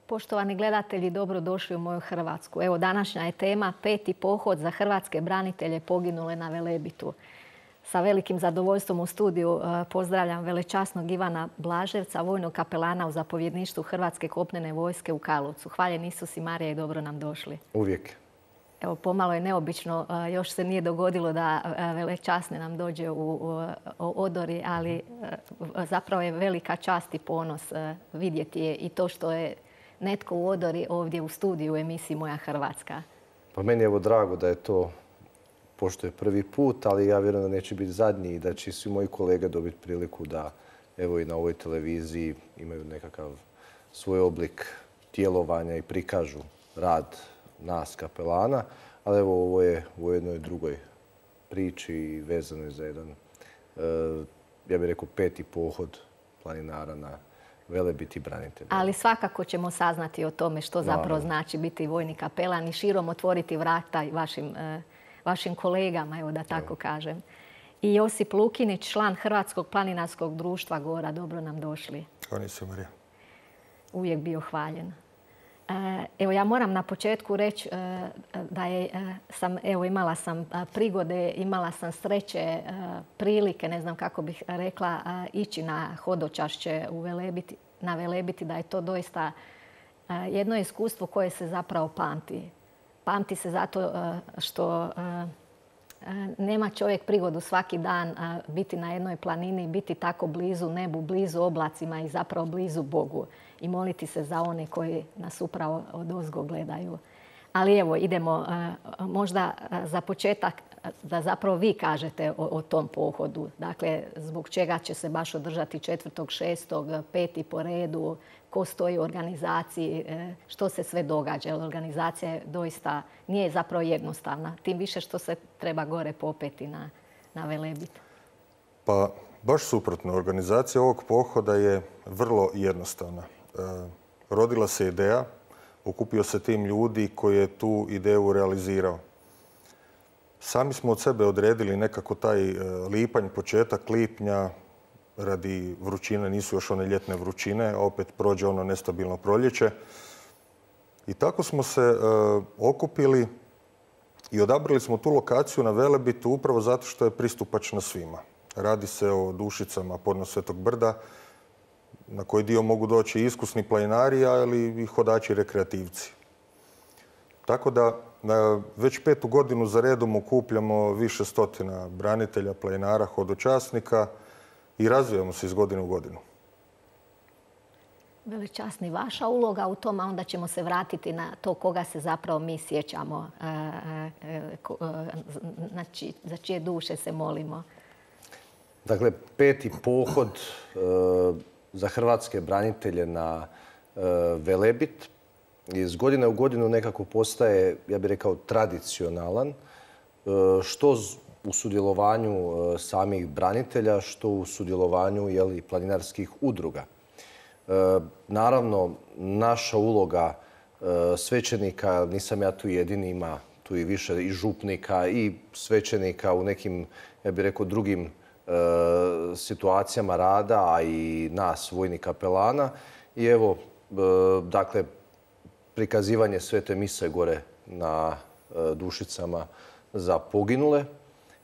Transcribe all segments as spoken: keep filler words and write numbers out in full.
Poštovani gledatelji, dobrodošli u moju Hrvatsku. Evo, današnja je tema peti pohod za hrvatske branitelje poginule na Velebitu. Sa velikim zadovoljstvom u studiju pozdravljam velečasnog Ivana Blaževca, vojnog kapelana u zapovjedništvu Hrvatske kopnene vojske u Karlovcu. Hvaljen Isus i Marija i dobro nam došli. Uvijek. Evo, pomalo je neobično, još se nije dogodilo da velečasni nam dođe u odori, ali zapravo je velika čast i ponos vidjeti je i to što je netko u odori ovdje u studiju u emisiji Moja Hrvatska. Pa meni je evo drago da je to, pošto je prvi put, ali ja vjerujem da neće biti zadnji i da će svi moji kolege dobiti priliku da evo i na ovoj televiziji imaju nekakav svoj oblik djelovanja i prikažu rad nas kapelana. Ali evo ovo je u jednoj drugoj priči i vezano je za jedan, ja bih rekao, peti pohod planinara na Velebit i branitelja. Ali svakako ćemo saznati o tome što zapravo znači biti vojni kapelan i širom otvoriti vrata vašim, vašim kolegama, evo da tako kažem. I Josip Lukinić, član Hrvatskog planinarskog društva Gora. Dobro nam došli. Hvala se, Marija. Uvijek bio hvaljen. Evo, ja moram na početku reći da je, sam, evo, imala sam prigode, imala sam sreće, prilike, ne znam kako bih rekla, ići na hodočašće u Velebiti, na Velebiti, da je to doista jedno iskustvo koje se zapravo pamti. Pamti se zato što nema čovjek prigodu svaki dan biti na jednoj planini, biti tako blizu nebu, blizu oblacima i zapravo blizu Bogu i moliti se za one koji nas upravo odozgo gledaju. Ali evo, idemo možda za početak da zapravo vi kažete o, o tom pohodu. Dakle, zbog čega će se baš održati četvrtog šestog, peti po redu, ko stoji u organizaciji, što se sve događa. Jer organizacija je doista nije zapravo jednostavna. Tim više što se treba gore popeti na, na Velebit. Pa baš suprotno. Organizacija ovog pohoda je vrlo jednostavna. E, rodila se ideja, okupio se tim ljudi koji je tu ideju realizirao. Sami smo od sebe odredili nekako taj lipanj, početak lipnja, radi vrućine, nisu još one ljetne vrućine, opet prođe ono nestabilno proljeće. I tako smo se e, okupili i odabrali smo tu lokaciju na Velebitu upravo zato što je pristupačna svima. Radi se o Dušicama podno Svetog brda, na koji dio mogu doći iskusni planinari, ali i hodači rekreativci. Tako da već petu godinu za redom okupljamo više stotina branitelja, planinara, hodočasnika i razvijamo se iz godine u godinu. Velečasni, vaša uloga u tom, a onda ćemo se vratiti na to koga se zapravo mi sjećamo, znači za čije duše se molimo. Dakle, peti pohod za hrvatske branitelje na Velebit iz godine u godinu nekako postaje, ja bih rekao, tradicionalan, što u sudjelovanju samih branitelja, što u sudjelovanju jeli, planinarskih udruga. Naravno, naša uloga svećenika, nisam ja tu jedini, ima tu i više i župnika i svećenika u nekim, ja bih rekao, drugim situacijama rada, a i nas, vojnih kapelana. I evo, dakle, prikazivanje svete mise gore na Dušicama za poginule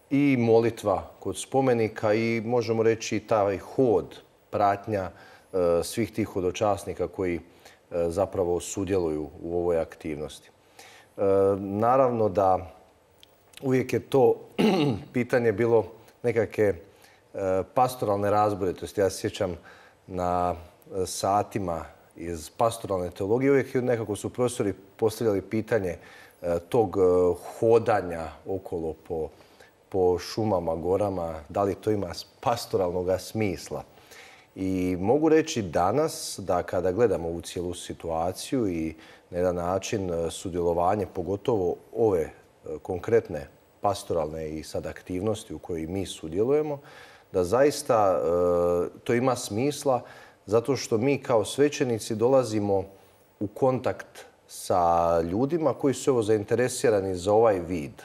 i molitva kod spomenika i možemo reći taj hod, pratnja svih tih hodočasnika koji zapravo sudjeluju u ovoj aktivnosti. Naravno da uvijek je to pitanje bilo nekakve pastoralne razboritosti. Ja se sjećam na satima iz pastoralne teologije, uvijek nekako su profesori postavljali pitanje tog hodanja okolo po, po šumama, gorama, da li to ima pastoralnog smisla. I mogu reći danas da kada gledamo ovu cijelu situaciju i na jedan način sudjelovanje, pogotovo ove konkretne pastoralne i sad aktivnosti u kojoj mi sudjelujemo, da zaista to ima smisla zato što mi kao svećenici dolazimo u kontakt sa ljudima koji su evo zainteresirani za ovaj vid.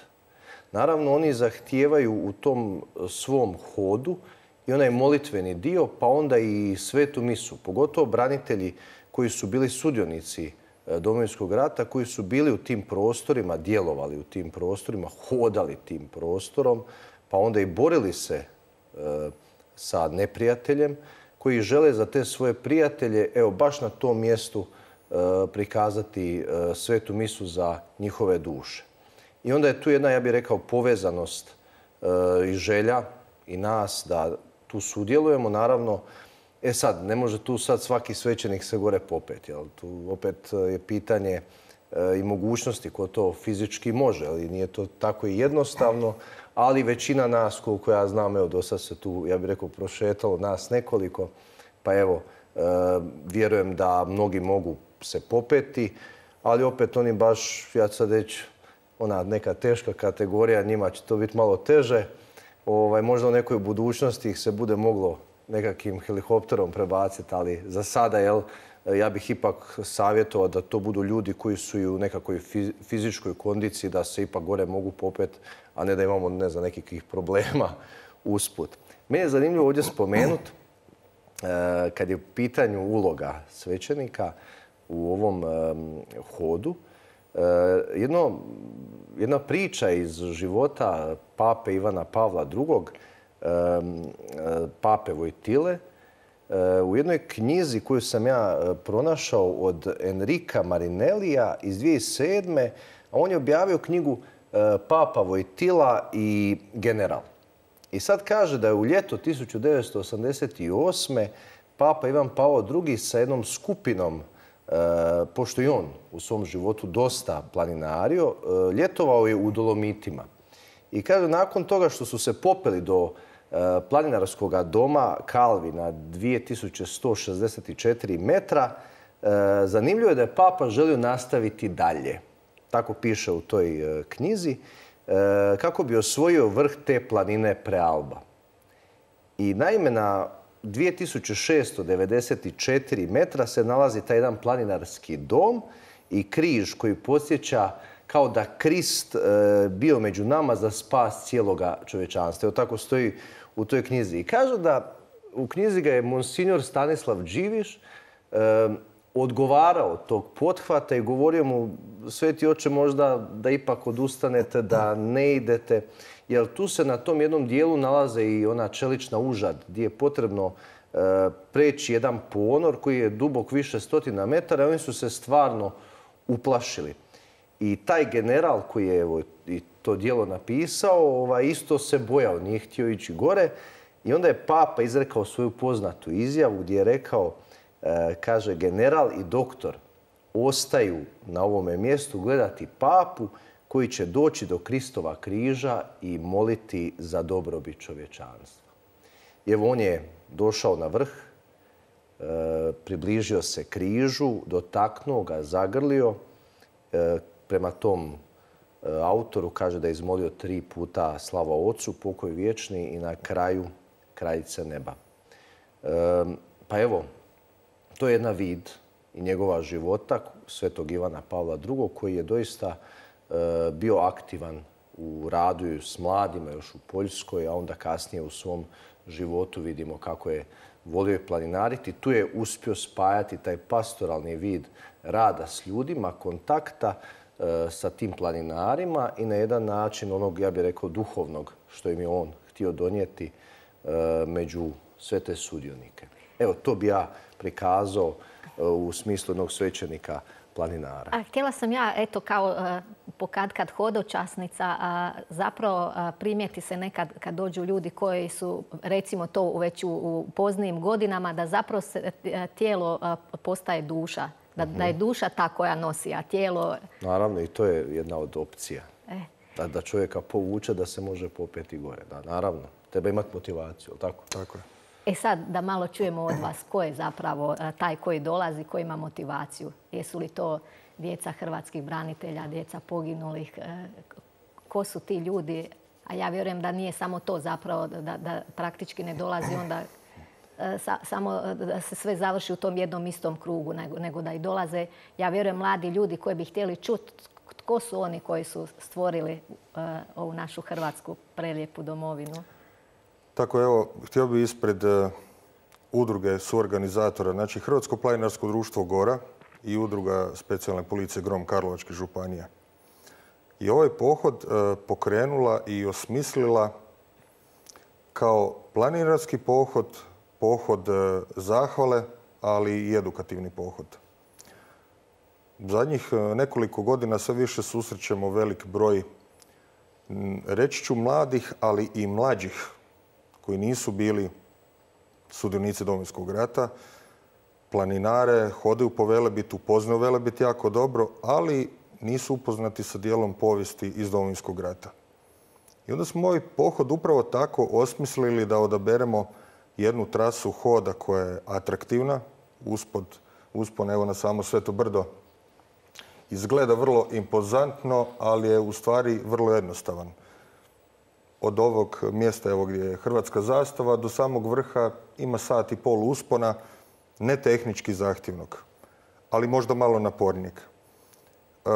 Naravno, oni zahtijevaju u tom svom hodu i onaj molitveni dio, pa onda i svetu misu. Pogotovo branitelji koji su bili sudionici Domovinskog rata, koji su bili u tim prostorima, djelovali u tim prostorima, hodali tim prostorom, pa onda i borili se sa neprijateljem, koji žele za te svoje prijatelje, evo, baš na tom mjestu prikazati svetu misu za njihove duše. I onda je tu jedna, ja bih rekao, povezanost i želja i nas da tu sudjelujemo. Naravno, e sad, ne može tu sad svaki svećenik se gore popeti. Jel? Tu opet je pitanje i mogućnosti ko to fizički može. Ali nije to tako i jednostavno, ali većina nas, koliko ja znam, evo, do sad se tu, ja bih rekao, prošetalo nas nekoliko. Pa evo, vjerujem da mnogi mogu se popeti, ali opet oni baš, ja ću sad reći, ona neka teška kategorija, njima će to biti malo teže. Ovaj, možda u nekoj budućnosti ih se bude moglo nekakvim helikopterom prebaciti, ali za sada, jel, ja bih ipak savjetovao da to budu ljudi koji su i u nekakvoj fizičkoj kondiciji, da se ipak gore mogu popeti, a ne da imamo, ne znam, nekakvih problema usput. Meni je zanimljivo ovdje spomenuti, kad je u pitanju uloga svećenika u ovom hodu, Jedno, jedna priča iz života pape Ivana Pavla drugog, pape Vojtile, u jednoj knjizi koju sam ja pronašao od Enrika Marinellija iz dvije tisuće sedme. A on je objavio knjigu Papa Vojtila i general. I sad kaže da je u ljeto tisuću devetsto osamdeset osme. papa Ivan Pavao drugi sa jednom skupinom, pošto i on u svom životu dosta planinario, ljetovao je u Dolomitima. I kaže, nakon toga što su se popeli do planinarskog doma Calvi na dvije tisuće sto šezdeset četiri metra, zanimljivo je da je papa želio nastaviti dalje. Tako piše u toj knjizi, kako bi osvojio vrh te planine Prealba. I naime, na dvije tisuće šesto devedeset četiri metra se nalazi taj jedan planinarski dom i križ koji podsjeća kao da Krist bio među nama za spas cijeloga čovječanstva. Evo tako stoji u toj knjizi. I kaže da u knjizi ga je monsignor Stanislav Điviš odgovarao tog pothvata i govorio mu, sveti oče, možda da ipak odustanete, da ne idete. Jer tu se na tom jednom dijelu nalaze i ona čelična užad gdje je potrebno preći jedan ponor koji je dubok više stotina metara i oni su se stvarno uplašili. I taj general koji je evo, i to dijelo napisao, ovaj, isto se bojao, nije htio ići gore. I onda je papa izrekao svoju poznatu izjavu gdje je rekao, e, kaže, general i doktor ostaju na ovome mjestu gledati papu koji će doći do Kristova križa i moliti za dobrobit čovječanstva. I evo, on je došao na vrh, e, približio se križu, dotaknuo ga, zagrlio. E, prema tom e, autoru kaže da je izmolio tri puta slava Ocu, pokoj vječni i na kraju kraljice neba. E, pa evo, to je jedna vid i njegova života svetog Ivana Pavla drugog koji je doista bio aktivan u radu s mladima još u Poljskoj, a onda kasnije u svom životu vidimo kako je volio planinariti. Tu je uspio spajati taj pastoralni vid rada s ljudima, kontakta sa tim planinarima i na jedan način onog, ja bih rekao, duhovnog što im je on htio donijeti među sve te sudionike. Evo, to bi ja prikazao u smislu jednog svećenika planinara. A htjela sam ja, eto, kao pokatkad hodočasnica, zapravo primijeti se nekad kad dođu ljudi koji su, recimo to već u poznijim godinama, da zapravo se tijelo postaje duša. Da, da je duša ta koja nosi, a tijelo... Naravno, i to je jedna od opcija. E. Da, da čovjeka povuče da se može popeti gore. Da, naravno, treba imati motivaciju, tako? Tako je. E sad, da malo čujemo od vas ko je zapravo taj koji dolazi, ko ima motivaciju. Jesu li to djeca hrvatskih branitelja, djeca poginulih? Ko su ti ljudi? A ja vjerujem da nije samo to zapravo, da, da praktički ne dolazi onda sa, samo da se sve završi u tom jednom istom krugu, nego, nego da i dolaze, ja vjerujem, mladi ljudi koji bi htjeli čuti tko su oni koji su stvorili uh, ovu našu hrvatsku prelijepu domovinu. Tako, evo, htio bih ispred uh, udruge suorganizatora, znači Hrvatsko planinarsko društvo Gora i udruga specijalne policije Grom Karlovačke županije. I ovaj pohod pokrenula i osmislila kao planinarski pohod, pohod zahvale, ali i edukativni pohod. Zadnjih nekoliko godina sve više susrećemo velik broj, reći ću mladih, ali i mlađih, koji nisu bili sudionici Domovinskog rata, planinare, hodaju po Velebitu, poznaju Velebit jako dobro, ali nisu upoznati sa dijelom povijesti iz Domovinskog rata. I onda smo ovaj pohod upravo tako osmislili da odaberemo jednu trasu hoda koja je atraktivna, uspod, uspon evo na samo Sveto brdo. Izgleda vrlo impozantno, ali je u stvari vrlo jednostavan. Od ovog mjesta evo gdje je hrvatska zastava do samog vrha ima sat i pol uspona, ne tehnički zahtjevnog, ali možda malo napornijeg. E,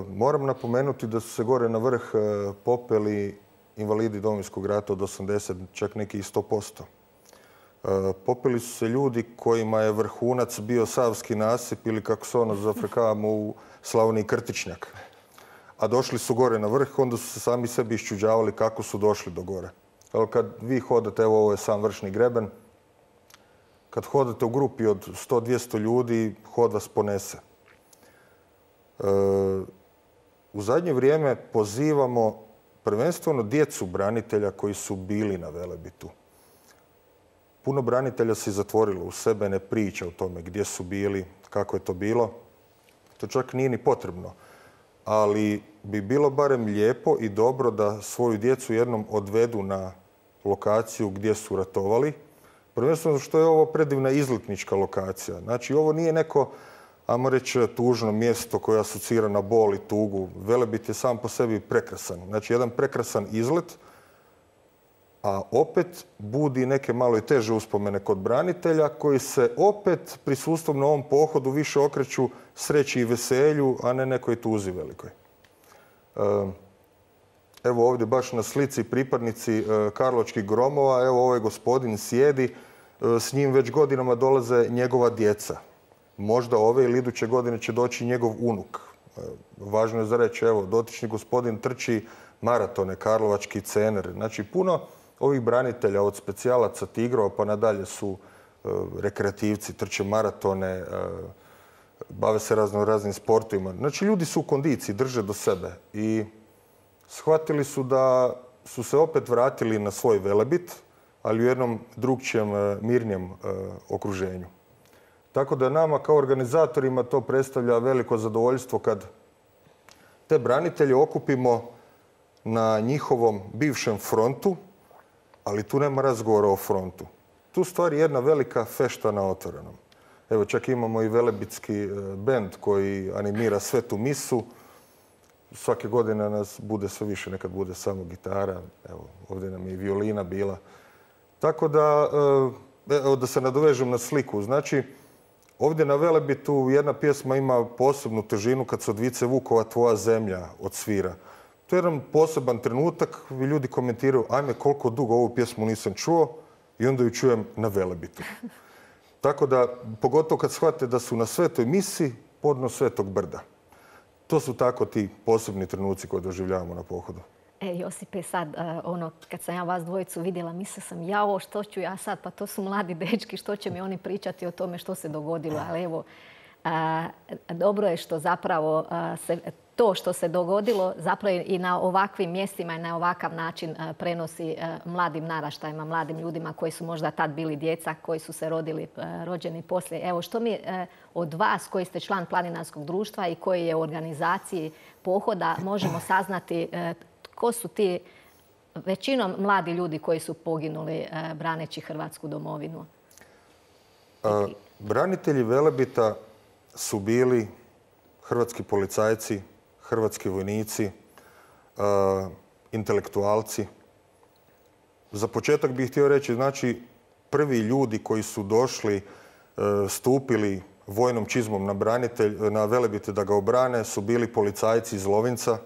moram napomenuti da su se gore na vrh popeli invalidi Domovinskog rata od osamdeset, čak neki i sto posto. E, popeli su se ljudi kojima je vrhunac bio Savski nasip ili kako se ono zafrkavamo u Slavoniji Krtičnjak. A došli su gore na vrh, onda su se sami sebi iščuđavali kako su došli do gore. Ali kad vi hodate, evo ovo je sam vršni greben, kad hodate u grupi od sto do dvjesto ljudi, hod vas ponese. E, u zadnje vrijeme pozivamo prvenstveno djecu branitelja koji su bili na Velebitu. Puno branitelja se zatvorilo u sebe, ne priča o tome gdje su bili, kako je to bilo. To čak nije ni potrebno. Ali bi bilo barem lijepo i dobro da svoju djecu jednom odvedu na lokaciju gdje su ratovali. Prvenstveno što je ovo predivna izletnička lokacija. Znači, ovo nije neko, ajmo reći, tužno mjesto koje asocira na bol i tugu. Velebit je sam po sebi prekrasan. Znači, jedan prekrasan izlet, a opet budi neke malo i teže uspomene kod branitelja koji se opet prisustvom na ovom pohodu više okreću sreći i veselju, a ne nekoj tuzi velikoj. Evo ovdje baš na slici pripadnici Karlovačkih gromova, evo ovaj gospodin sjedi, s njim već godinama dolaze njegova djeca. Možda ove ili iduće godine će doći njegov unuk. Važno je za reći, evo, dotični gospodin trči maratone, Karlovački Cener. Znači, puno ovih branitelja od specijalaca Tigrova pa nadalje su rekreativci, trče maratone, bave se razno raznim sportovima. Znači, ljudi su u kondiciji, drže do sebe i shvatili su da su se opet vratili na svoj Velebit, ali u jednom drugčijem, mirnijem okruženju. Tako da nama kao organizatorima to predstavlja veliko zadovoljstvo kad te branitelje okupimo na njihovom bivšem frontu, ali tu nema razgovora o frontu. Tu stvari jedna velika fešta na otvorenom. Evo, čak imamo i velebitski bend koji animira svetu misu. Svake godine nas bude sve više, nekad bude samo gitara. Evo, ovdje nam je i violina bila. Tako da, evo, da se nadovežem na sliku. Znači, ovdje na Velebitu jedna pjesma ima posebnu težinu kad se od Vice Vukova Tvoja zemlja odsvira. To je jedan poseban trenutak, ljudi komentiraju, ajme koliko dugo ovu pjesmu nisam čuo i onda ju čujem na Velebitu. Tako da, pogotovo kad shvate da su na svetoj misi podno Svetog brda. To su tako ti posebni trenuci koje doživljavamo na pohodu. E, Josipe, sad, ono, kad sam ja vas dvojicu vidjela, mislila sam, jao, što ću ja sad? Pa to su mladi dečki, što će mi oni pričati o tome što se dogodilo? Ali evo, dobro je što zapravo se to što se dogodilo zapravo i na ovakvim mjestima i na ovakav način prenosi mladim naraštajima, mladim ljudima koji su možda tad bili djeca, koji su se rodili, rođeni poslije. Evo, što mi od vas koji ste član planinarskog društva i koji je u organizaciji pohoda možemo saznati tko su ti većinom mladi ljudi koji su poginuli braneći Hrvatsku domovinu? A, branitelji Velebita su bili hrvatski policajci, hrvatski vojnici, uh, intelektualci. Za početak bih htio reći, znači, prvi ljudi koji su došli, uh, stupili vojnom čizmom na, branitelj, na Velebit da ga obrane su bili policajci iz Lovinca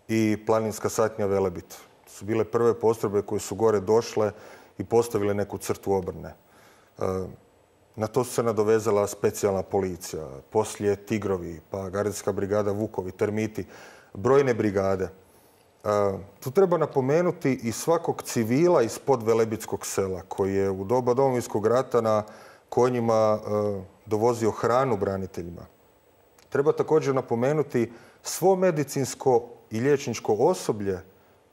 i planinska satnja Velebit. Su bile prve postrojbe koje su gore došle i postavile neku crtu obrane. Na to su se nadovezala specijalna policija, poslije Tigrovi, pa Gardijska brigada Vukovi, Termiti, brojne brigade. Tu treba napomenuti i svakog civila iz Podvelebitskog sela koji je u doba Domovinskog rata na konjima dovozio hranu braniteljima. Treba također napomenuti svo medicinsko i liječničko osoblje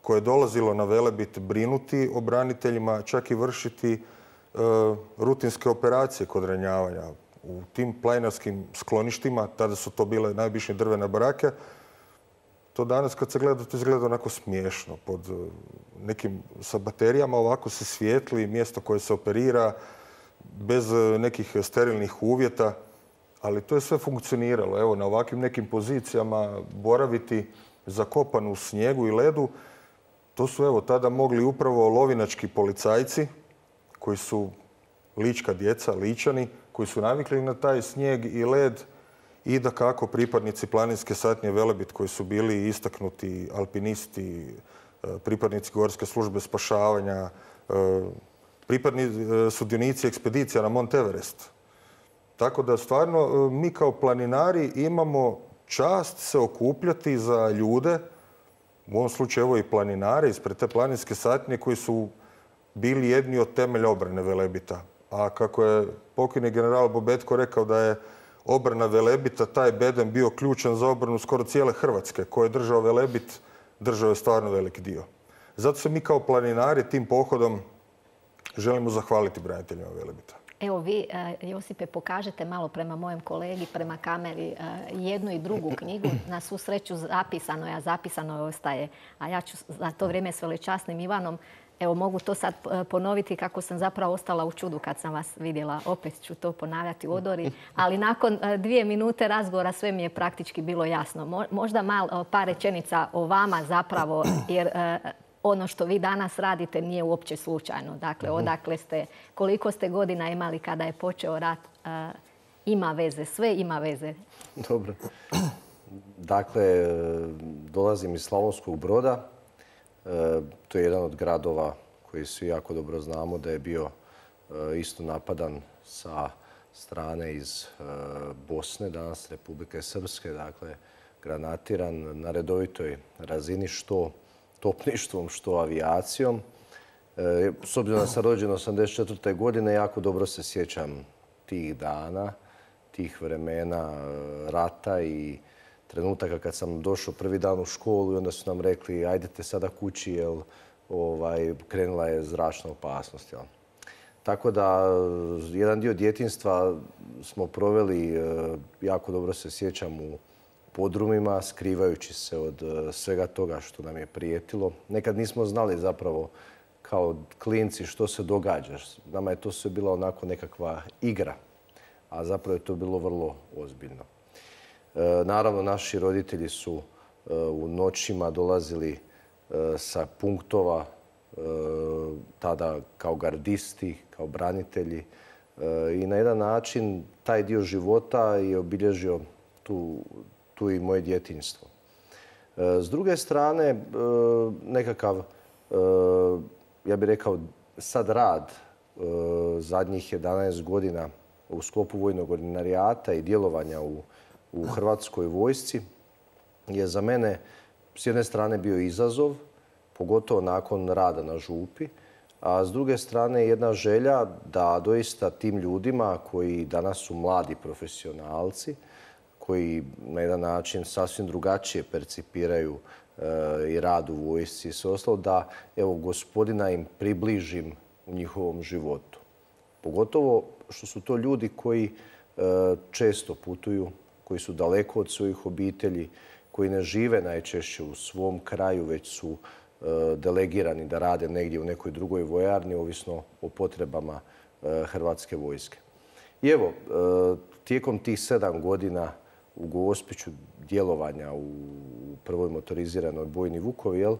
koje je dolazilo na Velebit brinuti o braniteljima, čak i vršiti rutinske operacije kod ranjavanja. U tim planinarskim skloništima, tada su to bile najobičnije drvene barake, to danas kad se gleda, to izgleda onako smiješno. Pod nekim sa baterijama ovako se svijetli, mjesto koje se operira, bez nekih sterilnih uvjeta, ali to je sve funkcioniralo. Evo, na ovakvim nekim pozicijama boraviti zakopan u snijegu i ledu, to su evo tada mogli upravo lovinački policajci, koji su lička djeca, ličani, koji su navikli na taj snijeg i led i dakako pripadnici planinske satnije Velebit koji su bili istaknuti alpinisti, pripadnici Gorske službe spašavanja, pripadnici sudionici ekspedicija na Mont Everest. Tako da stvarno mi kao planinari imamo čast se okupljati za ljude, u ovom slučaju evo i planinare ispred te planinske satnije koji su bili jedni od temelja obrane Velebita. A kako je pokojni general Bobetko rekao da je obrana Velebita, taj bedem bio ključan za obranu skoro cijele Hrvatske. Ko je držao Velebit, držao je stvarno veliki dio. Zato se mi kao planinari tim pohodom želimo zahvaliti braniteljima Velebita. Evo vi, Josipe, pokažete malo prema mojem kolegi, prema kameri, jednu i drugu knjigu. Na svu sreću zapisano je, a zapisano ostaje. A ja ću za to vrijeme s velečasnim Ivanom, evo mogu to sad ponoviti kako sam zapravo ostala u čudu kad sam vas vidjela. Opet ću to ponavljati u odori. Ali nakon dvije minute razgovora sve mi je praktički bilo jasno. Možda malo par rečenica o vama zapravo, jer ono što vi danas radite nije uopće slučajno. Dakle, odakle ste, koliko ste godina imali kada je počeo rat, ima veze, sve ima veze. Dobro. Dakle, dolazim iz Slavonskog Broda. To je jedan od gradova koji svi jako dobro znamo da je bio isto napadan sa strane iz Bosne, danas Republike Srpske, dakle granatiran na redovitoj razini što topništvom, što avijacijom. S obzirom da sam rođen osamdeset četvrte godine, jako dobro se sjećam tih dana, tih vremena rata i trenutaka kad sam došao prvi dan u školu i onda su nam rekli ajdete sada kući jer ovaj, krenula je zračna opasnost. Jel? Tako da jedan dio djetinjstva smo proveli, jako dobro se sjećam, u podrumima, skrivajući se od svega toga što nam je prijetilo. Nekad nismo znali zapravo kao klinci što se događa. Nama je to sve bila onako nekakva igra, a zapravo je to bilo vrlo ozbiljno. Naravno, naši roditelji su u noćima dolazili sa punktova, tada kao gardisti, kao branitelji. I na jedan način taj dio života je obilježio tu, tu i moje djetinjstvo. S druge strane, nekakav, ja bih rekao, sad rad zadnjih jedanaest godina u sklopu vojnog ordinarijata i djelovanja u u Hrvatskoj vojsci je za mene s jedne strane bio izazov, pogotovo nakon rada na župi, a s druge strane jedna želja da doista tim ljudima koji danas su mladi profesionalci, koji na jedan način sasvim drugačije percipiraju i rad u vojsci i sve ostalo, da evo gospodina im približim u njihovom životu. Pogotovo što su to ljudi koji često putuju, koji su daleko od svojih obitelji, koji ne žive najčešće u svom kraju, već su delegirani da rade negdje u nekoj drugoj vojarni, ovisno o potrebama Hrvatske vojske. I evo, tijekom tih sedam godina u Gospiću djelovanja u prvoj motoriziranoj bojni Vukovi, jel,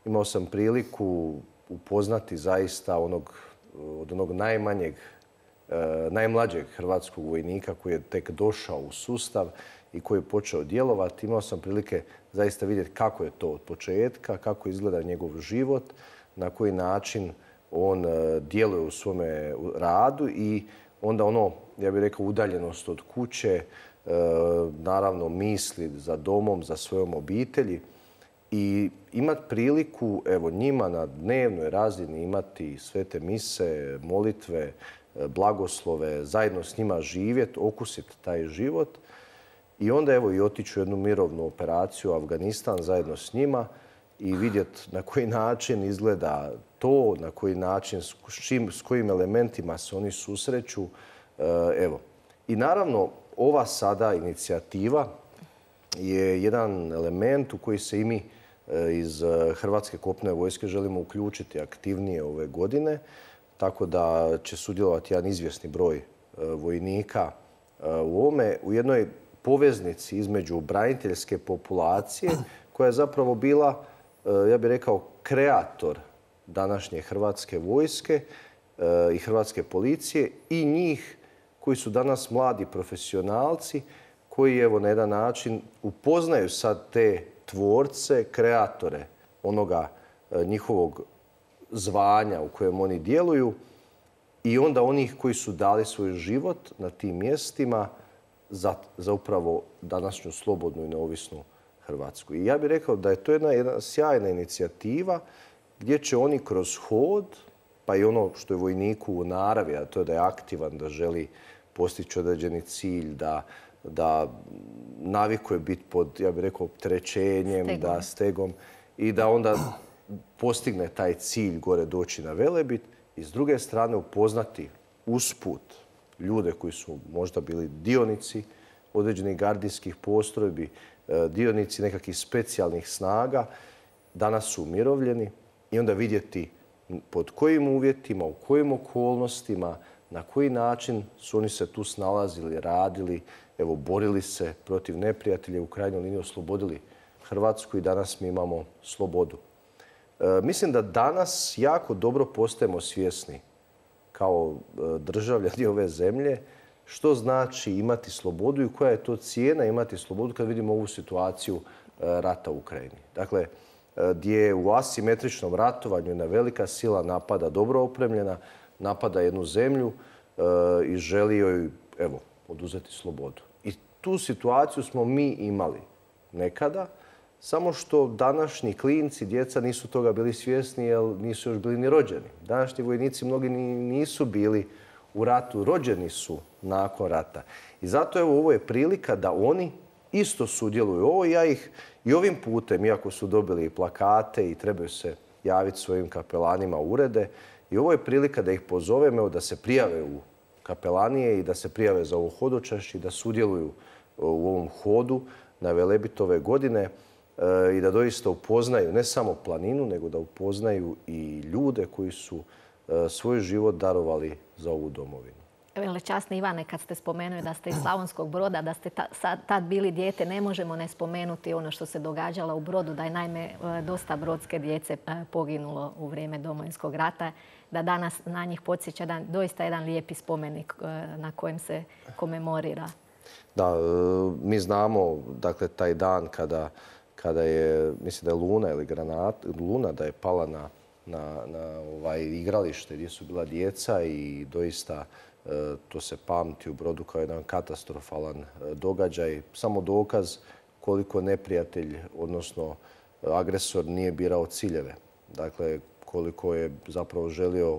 imao sam priliku upoznati zaista onog, od onog najmanjeg, najmlađeg hrvatskog vojnika koji je tek došao u sustav i koji je počeo djelovati. Imao sam prilike zaista vidjeti kako je to od početka, kako izgleda njegov život, na koji način on djeluje u svome radu i onda ono, ja bih rekao, udaljenost od kuće, naravno misli za domom, za svojom obitelji i imati priliku, evo, njima na dnevnoj razini imati svete mise, molitve, blagoslove, zajedno s njima živjeti, okusiti taj život i onda evo i otići u jednu mirovnu operaciju u Afganistan zajedno s njima i vidjeti na koji način izgleda to, na koji način, s, čim, s kojim elementima se oni susreću. Evo. I naravno, ova sada inicijativa je jedan element u koji se i mi iz Hrvatske kopnene vojske želimo uključiti aktivnije ove godine, tako da će sudjelovati jedan izvjesni broj vojnika u ovome, u jednoj poveznici između braniteljske populacije koja je zapravo bila, ja bih rekao, kreator današnje Hrvatske vojske i Hrvatske policije i njih koji su danas mladi profesionalci koji evo na jedan način upoznaju sad te tvorce, kreatore onoga njihovog zvanja u kojem oni djeluju i onda onih koji su dali svoj život na tim mjestima za, za upravo današnju slobodnu i neovisnu Hrvatsku. I ja bih rekao da je to jedna, jedna sjajna inicijativa gdje će oni kroz hod, pa i ono što je vojniku u naravi, a to je da je aktivan, da želi postići određeni cilj, da, da navikuje biti pod, ja bih rekao, opterećenjem, stegom. da stegom i da onda postigne taj cilj gore doći na Velebit i s druge strane upoznati usput ljude koji su možda bili dionici određenih gardijskih postrojbi, dionici nekakvih specijalnih snaga, danas su umirovljeni i onda vidjeti pod kojim uvjetima, u kojim okolnostima, na koji način su oni se tu snalazili, radili, evo, borili se protiv neprijatelja, u krajnjoj liniji oslobodili Hrvatsku i danas mi imamo slobodu. E, mislim da danas jako dobro postajemo svjesni kao državljani ove zemlje što znači imati slobodu i koja je to cijena imati slobodu kad vidimo ovu situaciju rata u Ukrajini. Dakle, gdje u asimetričnom ratovanju jedna velika sila napada dobro opremljena, napada jednu zemlju i želi joj, evo, oduzeti slobodu. I tu situaciju smo mi imali nekada, samo što današnji klinci, djeca nisu toga bili svjesni jer nisu još bili ni rođeni. Današnji vojnici mnogi nisu bili u ratu, rođeni su nakon rata. I zato evo ovo je prilika da oni isto sudjeluju. Ovo ja ih i ovim putem, iako su dobili plakate i trebaju se javiti svojim kapelanima u urede, i ovo je prilika da ih pozovemo da se prijave u kapelanije i da se prijave za ovo hodočašće i da sudjeluju u ovom hodu na Velebit ove godine i da doista upoznaju ne samo planinu, nego da upoznaju i ljude koji su svoj život darovali za ovu domovinu. Velečasni Ivane, kad ste spomenuli da ste iz Slavonskog Broda, da ste tad bili dijete, ne možemo ne spomenuti ono što se događalo u Brodu, da je naime dosta brodske djece poginulo u vrijeme Domovinskog rata, da danas na njih podsjeća da doista jedan lijepi spomenik na kojem se komemorira. Da, mi znamo, dakle, taj dan kada, kada je, mislim da je Luna ili granat, Luna da je pala na, na, na ovaj igralište gdje su bila djeca i doista to se pamti u Brodu kao jedan katastrofalan događaj. Samo dokaz koliko neprijatelj, odnosno agresor, nije birao ciljeve. Dakle, koliko je zapravo želio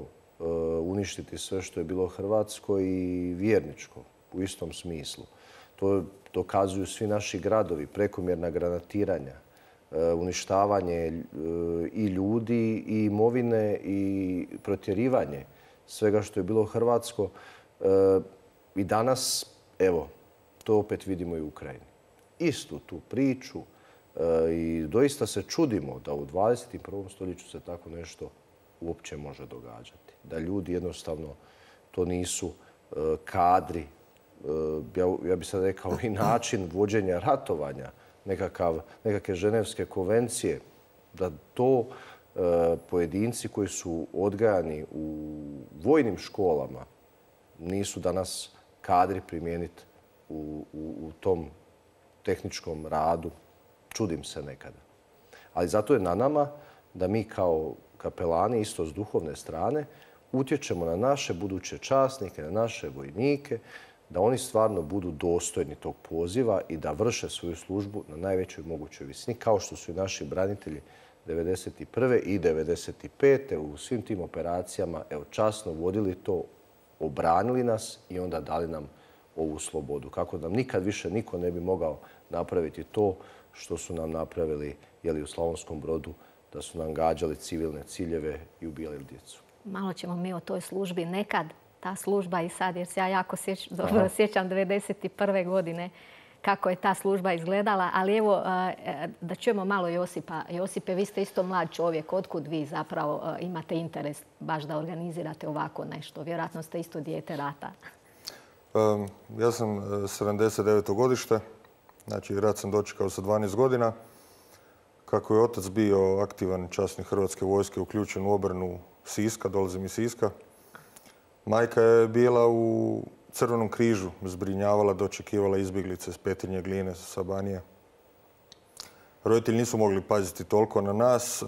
uništiti sve što je bilo hrvatsko i vjerničko u istom smislu. To dokazuju svi naši gradovi, prekomjerna granatiranja, uništavanje i ljudi i imovine i protjerivanje svega što je bilo hrvatsko. I danas, evo, to opet vidimo i u Ukrajini. Istu tu priču i doista se čudimo da u dvadeset i prvom stoljeću se tako nešto uopće može događati. Da ljudi jednostavno to nisu kadri, ja bih sad rekao i način vođenja ratovanja, nekakav, nekakve ženevske konvencije, da to pojedinci koji su odgajani u vojnim školama nisu danas kadri primijeniti u, u, u tom tehničkom radu. Čudim se nekada. Ali zato je na nama da mi kao, kapelani, isto s duhovne strane, utječemo na naše buduće časnike, na naše vojnike, da oni stvarno budu dostojni tog poziva i da vrše svoju službu na najvećoj mogućoj visini, kao što su i naši branitelji devedeset prve i devedeset pete u svim tim operacijama evo, časno vodili to, obranili nas i onda dali nam ovu slobodu. Kako nam nikad više niko ne bi mogao napraviti to što su nam napravili jeli, u Slavonskom Brodu, da su nam gađali civilne ciljeve i ubijali djecu. Malo ćemo mi o toj službi. Nekad ta služba i sad, jer se ja jako sječ, dobro sjećam devedeset prve godine kako je ta služba izgledala. Ali evo, da čujemo malo Josipa. Josipe, vi ste isto mlad čovjek. Otkud vi zapravo imate interes baš da organizirate ovako nešto? Vjerojatno ste isto dijete rata. Um, ja sam sedamdeset deveto godište. Znači, rat sam dočekao sa dvanaest godina. Kako je otac bio aktivan časnik Hrvatske vojske, uključen u obranu Siska, dolazim iz Siska. Majka je bila u Crvenom križu, zbrinjavala, dočekivala izbjeglice s Petrinje, Gline, sa Banije. Roditelji nisu mogli paziti toliko na nas,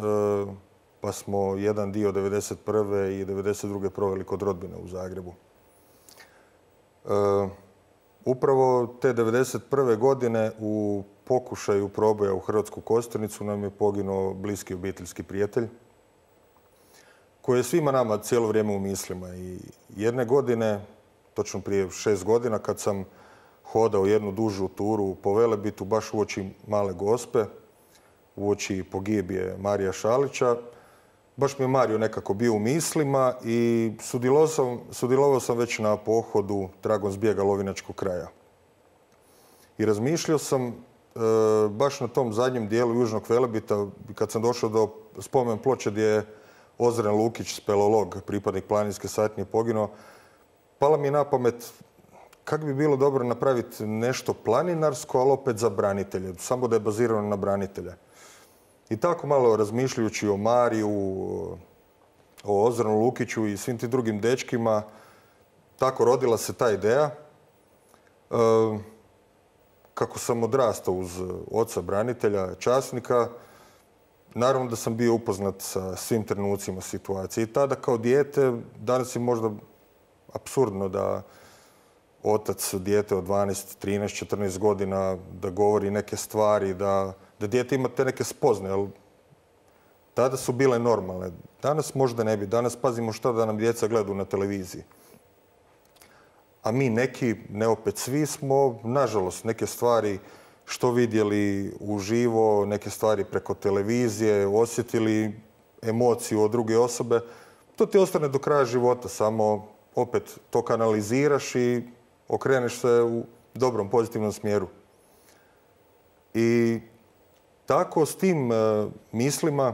pa smo jedan dio devedeset prve i devedeset druge proveli kod rodbine u Zagrebu. Upravo te devedeset prve godine u pokušaju proboja u Hrvatsku Kostajnicu nam je poginuo bliski obiteljski prijatelj koji je svima nama cijelo vrijeme u mislima. I jedne godine, točno prije šest godina, kad sam hodao jednu dužu turu po Velebitu, baš uoči Male Gospe, uoči pogibije Marija Šalića, baš mi je Mario nekako bio u mislima i sudjelovao sam, sudjelovao sam već na pohodu tragom zbjega Lovinačkog kraja. I razmišljao sam e, baš na tom zadnjem dijelu Južnog Velebita, kad sam došao do spomen ploče gdje je Ozren Lukić, speleolog, pripadnik planinske satnije, poginuo, pala mi je na pamet kako bi bilo dobro napraviti nešto planinarsko, ali opet za branitelje, samo da je bazirano na branitelje. I tako malo razmišljajući o Mariju, o Ozrenu Lukiću i svim tim drugim dečkima, tako rodila se ta ideja. E, kako sam odrastao uz oca branitelja, časnika, naravno da sam bio upoznat sa svim trenucima situacije. I tada kao dijete, danas je možda apsurdno da otac dijete od dvanaest, trinaest, četrnaest godina da govori neke stvari, da, da dijete ima te neke spoznaje. Ali tada su bile normalne. Danas možda ne bi. Danas pazimo šta da nam djeca gledaju na televiziji. A mi neki, ne opet svi, smo, nažalost, neke stvari što vidjeli uživo, neke stvari preko televizije, osjetili emociju od druge osobe. To ti ostane do kraja života, samo opet to kanaliziraš i okreneš se u dobrom, pozitivnom smjeru. I tako s tim uh, mislima,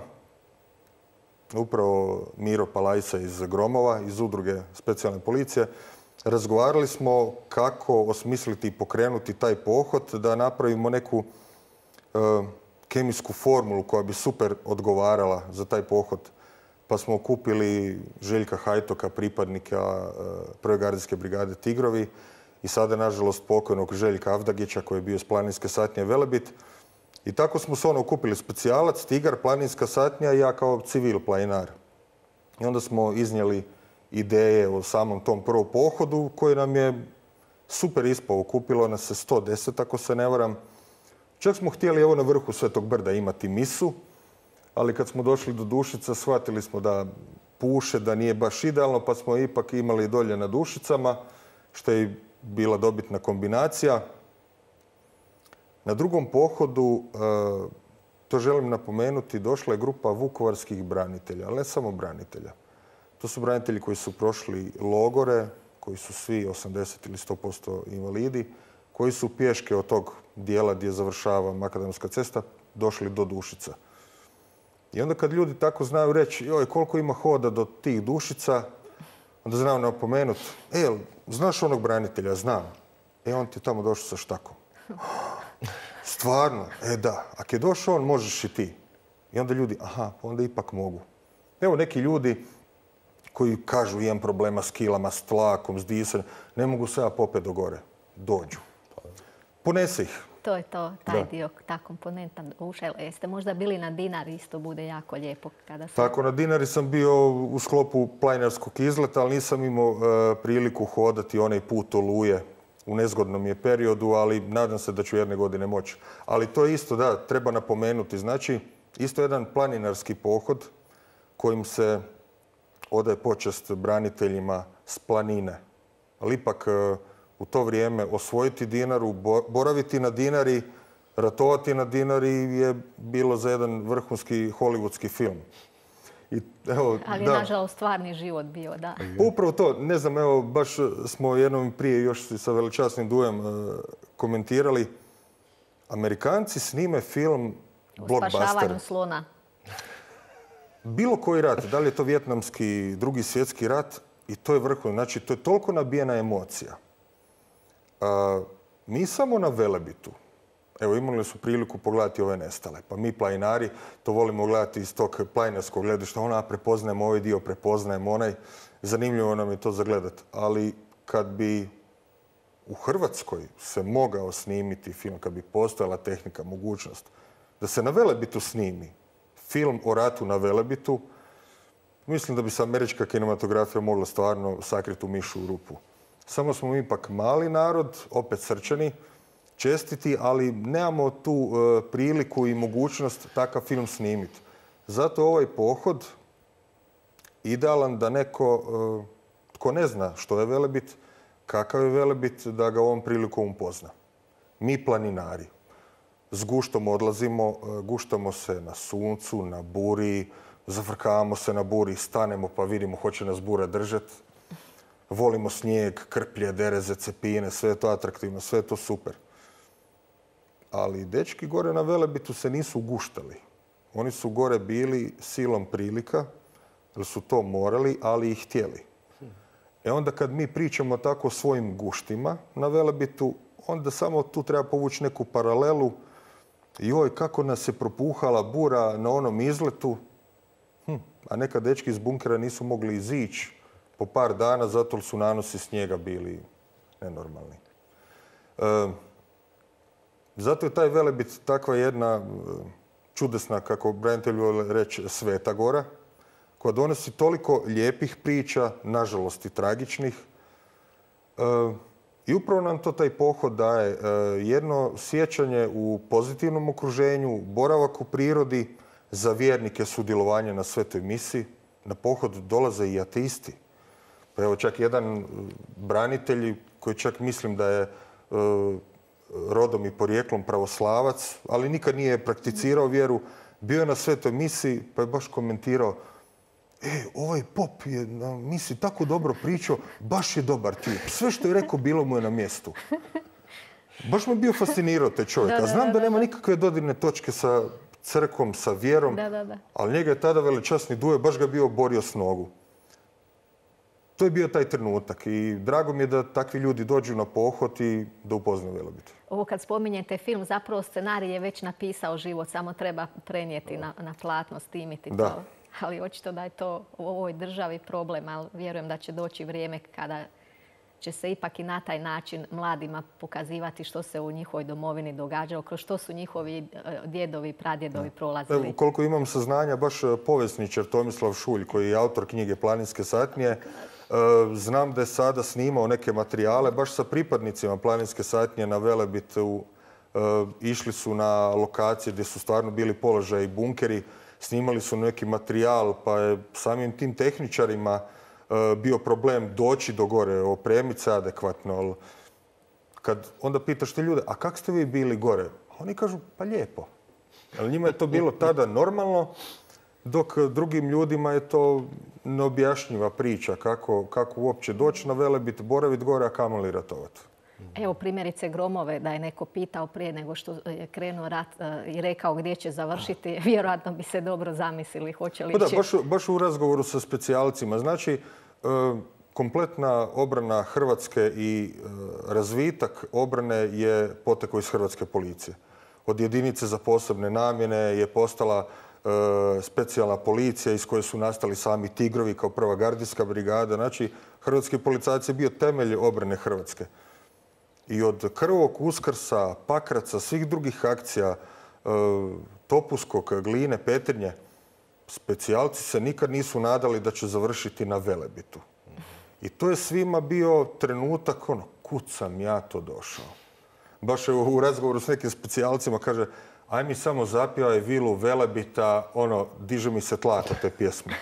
upravo Miro Palajsa iz Gromova, iz udruge specijalne policije, razgovarali smo kako osmisliti i pokrenuti taj pohod, da napravimo neku uh, kemijsku formulu koja bi super odgovarala za taj pohod. Pa smo okupili Željka Hajtoka, pripadnika uh, prve gardijske brigade Tigrovi i sada, nažalost, pokojnog Željka Avdagića koji je bio iz planinske satnje Velebit. I tako smo se ono okupili specijalac, Tigar, planinska satnja i ja kao civil planinar. I onda smo iznijeli ideje o samom tom prvom pohodu koji nam je super ispao. Okupilo nas se sto deset, ako se ne varam. Čak smo htjeli evo na vrhu Svetog brda imati misu, ali kad smo došli do Dušica shvatili smo da puše, da nije baš idealno, pa smo ipak imali dolje na Dušicama, što je bila dobitna kombinacija. Na drugom pohodu, to želim napomenuti, došla je grupa vukovarskih branitelja, ali ne samo branitelja. To su branitelji koji su prošli logore, koji su svi osamdeset ili sto posto invalidi, koji su pješke od tog dijela gdje završava Makadamska cesta došli do Dušica. I onda kad ljudi tako znaju reći, joj, koliko ima hoda do tih Dušica, onda znaju napomenuti, e, znaš onog branitelja? Znam. E, on ti je tamo došao sa štakom. Stvarno? E, da. Ako je došao on, možeš i ti. I onda ljudi, aha, onda ipak mogu. Evo neki ljudi koji kažu imam problema s kilama, s tlakom, s disanjem, ne mogu se ja popet do gore. Dođu. Ponese ih. To je to, taj dio, ta komponenta ušla. Jeste možda bili na Dinari, isto bude jako lijepo kada se... Tako, na Dinari sam bio u sklopu planinarskog izleta, ali nisam imao uh, priliku hodati onaj put Oluje. U nezgodnom je periodu, ali nadam se da ću jedne godine moći. Ali to je isto, da, treba napomenuti. Znači, isto jedan planinarski pohod kojim se odaje počast braniteljima s planine. Ali ipak uh, u to vrijeme osvojiti Dinaru, boraviti na Dinari, ratovati na Dinari je bilo za jedan vrhunski hollywoodski film. I, evo, ali je da. nažalost stvarni život bio, da. Upravo to, ne znam, evo, baš smo jednom prije još sa veličasnim Dujem uh, komentirali. Amerikanci snime film blockbuster. O spašavanju slona. Bilo koji rat, da li je to Vijetnamski, Drugi svjetski rat, i to je vrhunski. Znači, to je toliko nabijena emocija. Uh, mi samo na Velebitu, evo, imali su priliku pogledati ove nestale. Pa mi planinari to volimo gledati iz tog planinarskog gledišta. Ona, prepoznajemo ovaj dio, prepoznajemo onaj. Zanimljivo nam je to zagledati. Ali kad bi u Hrvatskoj se mogao snimiti film, kad bi postojala tehnika, mogućnost da se na Velebitu snimi film o ratu na Velebitu, mislim da bi se američka kinematografija mogla stvarno sakriti u mišu u rupu. Samo smo mi ipak mali narod, opet srčani, čestiti, ali nemamo tu uh, priliku i mogućnost takav film snimiti. Zato ovaj pohod idealan da neko uh, tko ne zna što je Velebit, kakav je Velebit, da ga ovom prilikom upozna. Mi planinari s guštom odlazimo, uh, guštamo se na suncu, na buri, zafrkavamo se na buri, stanemo pa vidimo hoće nas bura držati. Volimo snijeg, krplje, dereze, cepine, sve je to atraktivno, sve je to super. Ali dečki gore na Velebitu se nisu guštali. Oni su gore bili silom prilika, jer su to morali, ali i htjeli. E onda kad mi pričamo tako o svojim guštima na Velebitu, onda samo tu treba povući neku paralelu. Joj, kako nas je propuhala bura na onom izletu, hm, a neka dečki iz bunkera nisu mogli izići po par dana, zato su nanosi snijega bili nenormalni. E, zato je taj Velebit takva jedna čudesna, kako branitelji vole reći, sveta gora, koja donosi toliko lijepih priča, nažalost i tragičnih. E, I upravo nam to taj pohod daje. E, jedno sjećanje u pozitivnom okruženju, boravak u prirodi, za vjernike sudjelovanje na svetoj misi. Na pohod dolaze i ateisti. Pa evo, čak jedan branitelj koji čak mislim da je e, rodom i porijeklom pravoslavac, ali nikad nije prakticirao vjeru, bio je na svetoj misi pa je baš komentirao: e, ovaj pop je na misi tako dobro pričao, baš je dobar tip. Sve što je rekao bilo mu je na mjestu. Baš me bio fascinirao taj čovjek. A znam da nema nikakve dodirne točke sa crkvom, sa vjerom, da, da, da. ali njega je tada veličasni Duje baš ga bio borio s nogu. To je bio taj trenutak i drago mi je da takvi ljudi dođu na pohod i da upoznaju Velebit. Ovo kad spominjete film, zapravo scenarij je već napisao život, samo treba prenijeti na, na platno, snimiti to. Da. Ali očito da je to u ovoj državi problem, ali vjerujem da će doći vrijeme kada će se ipak i na taj način mladima pokazivati što se u njihovoj domovini događalo, kroz što su njihovi djedovi i pradjedovi prolazili. Evo, koliko imam saznanja, baš povjesničar Tomislav Šulj, koji je autor knjige Planinske satnije, znam da je sada snimao neke materijale baš sa pripadnicima Planinske satnije na Velebitu. Išli su na lokacije gdje su stvarno bili položaji i bunkeri, snimali su neki materijal, pa je samim tim tehničarima bio problem doći do gore, opremiti se adekvatno. Kad onda pitaš te ljude, a kako ste vi bili gore? Oni kažu, pa lijepo. Ali njima je to bilo tada normalno, dok drugim ljudima je to neobjašnjiva priča kako, kako uopće doći na Velebit, boraviti gore, a kamoli ratovati. Evo primjerice Gromove, da je neko pitao prije nego što je krenuo rat i rekao gdje će završiti, vjerojatno bi se dobro zamislili hoće li pa da, će... baš, baš u razgovoru sa specijalcima. Znači, kompletna obrana Hrvatske i razvitak obrane je potekao iz Hrvatske policije. Od jedinice za posebne namjene je postala specijalna policija iz koje su nastali sami Tigrovi kao prva gardijska brigada. Znači, hrvatski policajac je bio temelj obrane Hrvatske. I od Krvog Uskrsa, Pakraca, svih drugih akcija, Topuskog, Gline, Petrinje, specijalci se nikad nisu nadali da će završiti na Velebitu. I to je svima bio trenutak, ono, kud sam ja to došao. Baš u razgovoru s nekim specijalcima kaže, aj mi samo zapjevaj Vilu Velebita, ono, diže mi se tlak od te pjesme.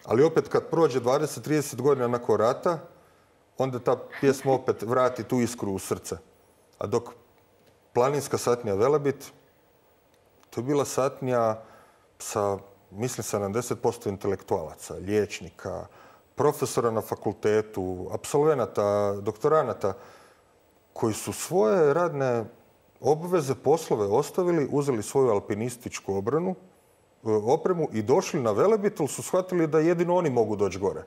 Ali opet kad prođe dvadeset do trideset godina nakon rata, onda ta pjesma opet vrati tu iskru u srce. A dok planinska satnija Velebit, to je bila satnija sa, mislim, sedamdeset posto intelektualaca, liječnika, profesora na fakultetu, apsolvenata, doktoranata, koji su svoje radne obveze, poslove ostavili, uzeli svoju alpinističku obranu, opremu i došli na Velebit, ali su shvatili da jedino oni mogu doći gore.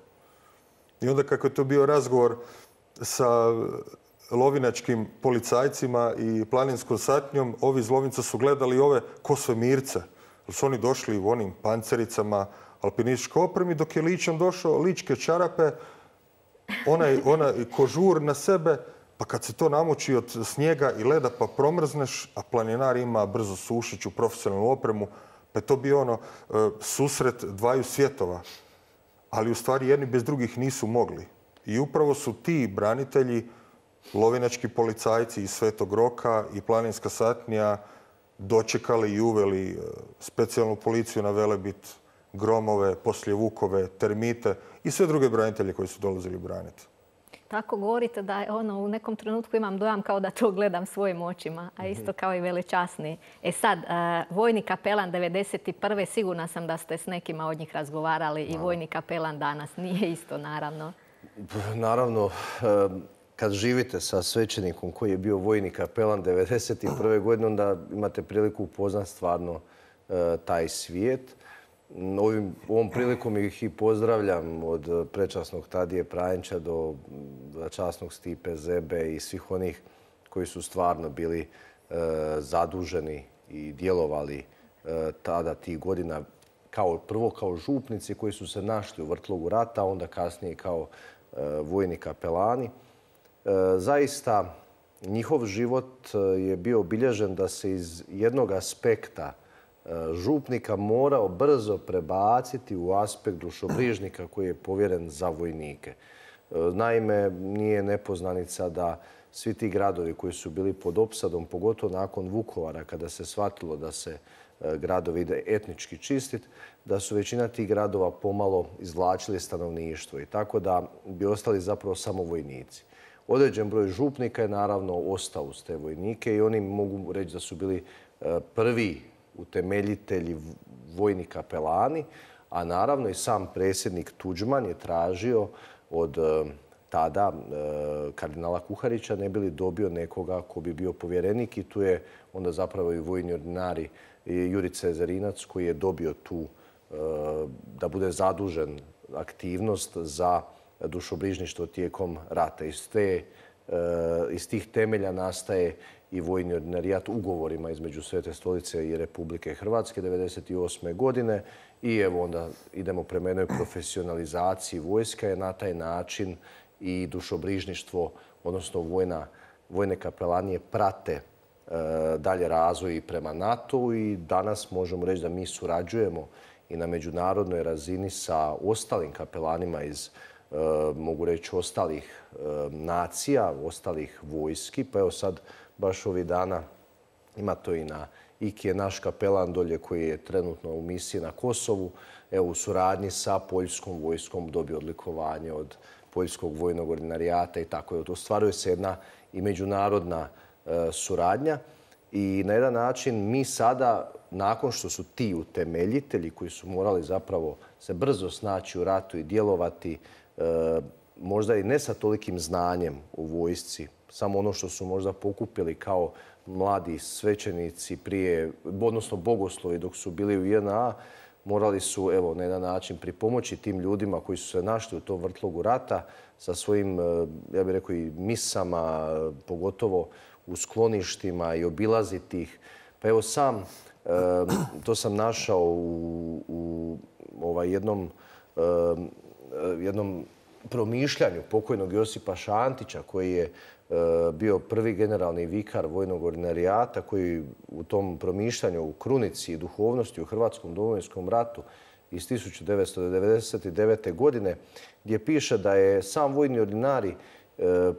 I onda kako je to bio razgovor sa lovinačkim policajcima i planinskom satnjom, ovi iz Lovinca su gledali ove ko svemirce. Jer su oni došli u onim pancericama, alpinističkoj opremi, dok je ličan došao, ličke čarape, onaj, onaj kožur na sebe, pa kad se to namoči od snijega i leda pa promrzneš, a planinar ima brzo sušiću, profesionalnu opremu, pa je to bio ono susret dvaju svjetova. Ali u stvari jedni bez drugih nisu mogli. I upravo su ti branitelji, lovinački policajci iz Svetog Roka i planinska satnija dočekali i uveli specijalnu policiju na Velebit, gromove, poslije Vukove, termite i sve druge branitelje koji su dolazili braniti. Tako govorite da ono, u nekom trenutku imam dojam kao da to gledam svojim očima, a isto kao i velečasni. E sad, vojni kapelan devedeset prve sigurna sam da ste s nekima od njih razgovarali i vojni kapelan danas. Nije isto, naravno. Naravno, kad živite sa svećenikom koji je bio vojni kapelan devedeset prve godine, onda imate priliku upoznati stvarno taj svijet. Ovim, ovom prilikom ih i pozdravljam od prečasnog Tadije Prajenča do časnog Stipe Zebe i svih onih koji su stvarno bili e, zaduženi i djelovali e, tada tih godina kao, prvo kao župnici koji su se našli u vrtlogu rata, a onda kasnije kao e, vojni kapelani. E, zaista njihov život je bio obilježen da se iz jednog aspekta župnika morao brzo prebaciti u aspekt dušobrižnika koji je povjeren za vojnike. Naime, nije nepoznanica da svi ti gradovi koji su bili pod opsadom, pogotovo nakon Vukovara, kada se shvatilo da se gradovi ide etnički čistiti, da su većina tih gradova pomalo izvlačili stanovništvo i tako da bi ostali zapravo samo vojnici. Određen broj župnika je naravno ostao uz te vojnike i oni mogu reći da su bili prvi utemeljitelji vojni kapelani, a naravno i sam predsjednik Tuđman je tražio od tada kardinala Kuharića ne bi li dobio nekoga ko bi bio povjerenik i tu je onda zapravo i vojni ordinari Jurica Zerinac koji je dobio tu da bude zadužen aktivnost za dušobrižništvo tijekom rata. Iz, te, iz tih temelja nastaje i vojni ordinarijat ugovorima između Svete stolice i Republike Hrvatske devedeset osme godine i evo onda idemo prema jednoj profesionalizaciji vojska je na taj način i dušobrižništvo, odnosno vojna, vojne kapelanije prate e, dalje razvoj i prema NATO-u i danas možemo reći da mi surađujemo i na međunarodnoj razini sa ostalim kapelanima iz e, mogu reći ostalih e, nacija, ostalih vojski. Pa evo sad baš ovih dana ima to i na Iki je naš kapelan dolje koji je trenutno u misiji na Kosovu. Evo u suradnji sa poljskom vojskom dobio odlikovanje od poljskog vojnog ordinarijata i tako je. Ostvaruje se jedna i međunarodna e, suradnja i na jedan način mi sada, nakon što su ti utemeljitelji koji su morali zapravo se brzo snaći u ratu i djelovati, e, možda i ne sa tolikim znanjem u vojsci, samo ono što su možda pokupili kao mladi svećenici prije, odnosno bogoslovi dok su bili u J N A, morali su evo, na jedan način pripomoći tim ljudima koji su se našli u tom vrtlogu rata sa svojim, ja bih rekao, i misama, pogotovo u skloništima i obilaziti ih. Pa evo sam, to sam našao u, u ovaj jednom, jednom promišljanju pokojnog Josipa Šantića koji je bio prvi generalni vikar vojnog ordinarijata koji u tom promišljanju u krunici i duhovnosti u Hrvatskom domovinskom ratu iz tisuću devetsto devedeset devete. godine, gdje piše da je sam vojni ordinari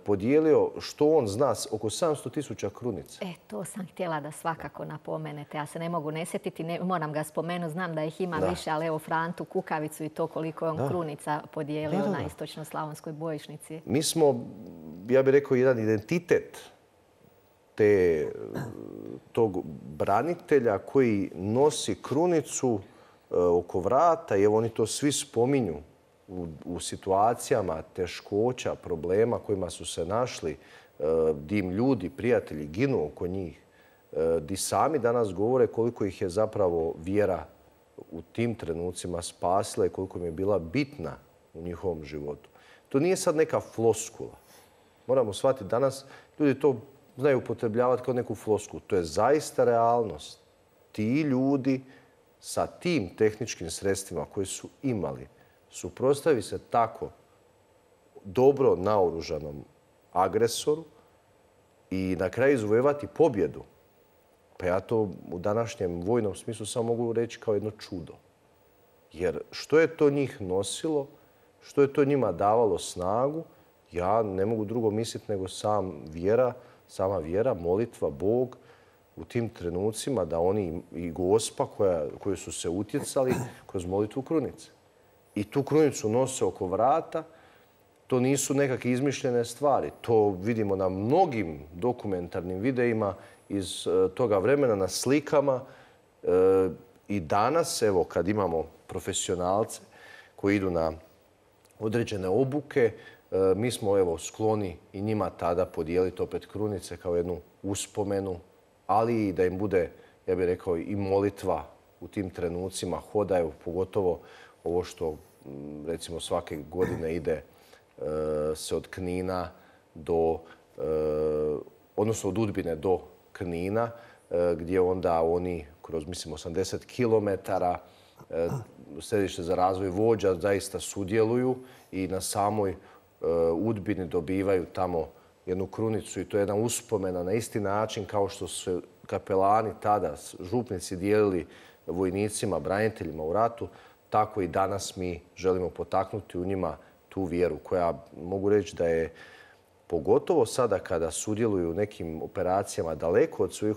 podijelio što on zna oko sedamsto tisuća krunica. E, to sam htjela da svakako napomenete. Ja se ne mogu ne sjetiti, ne, moram ga spomenuti, znam da ih ima da. više, ali evo Frantu Kukavicu i to koliko je on da. krunica podijelio da, da, da. na istočno-slavonskoj bojišnici. Mi smo, ja bih rekao, jedan identitet te, tog branitelja koji nosi krunicu oko vrata i evo oni to svi spominju u, u situacijama teškoća, problema kojima su se našli, di im ljudi, prijatelji ginu oko njih, di sami danas govore koliko ih je zapravo vjera u tim trenucima spasila i koliko im je bila bitna u njihovom životu. To nije sad neka floskula. Moramo shvatiti, danas ljudi to znaju upotrebljavati kao neku floskulu. To je zaista realnost. Ti ljudi sa tim tehničkim sredstvima koje su imali suprotstavi se tako dobro naoružanom agresoru i na kraju izvojevati pobjedu. Pa ja to u današnjem vojnom smislu samo mogu reći kao jedno čudo. Jer što je to njih nosilo, što je to njima davalo snagu, ja ne mogu drugo misliti nego sam vjera, sama vjera, molitva, Bog u tim trenucima da oni i Gospa koja, koju su se utjecali kroz molitvu krunice. I tu krunicu nose oko vrata. To nisu nekakve izmišljene stvari. To vidimo na mnogim dokumentarnim videima iz toga vremena, na slikama. I danas, evo, kad imamo profesionalce koji idu na određene obuke, mi smo, evo, skloni i njima tada podijeliti opet krunice kao jednu uspomenu, ali i da im bude, ja bih rekao, i molitva u tim trenucima, hodaju, pogotovo ovo što, recimo, svake godine ide se od Knina do, odnosno od Udbine do Knina, gdje onda oni kroz, mislim, osamdeset kilometara središte za razvoj vođa zaista sudjeluju i na samoj Udbini dobivaju tamo jednu krunicu i to je jedna uspomena na isti način kao što su kapelani tada, župnici dijelili vojnicima, braniteljima u ratu, tako i danas mi želimo potaknuti u njima tu vjeru koja mogu reći da je pogotovo sada kada sudjeluju u nekim operacijama daleko od svojih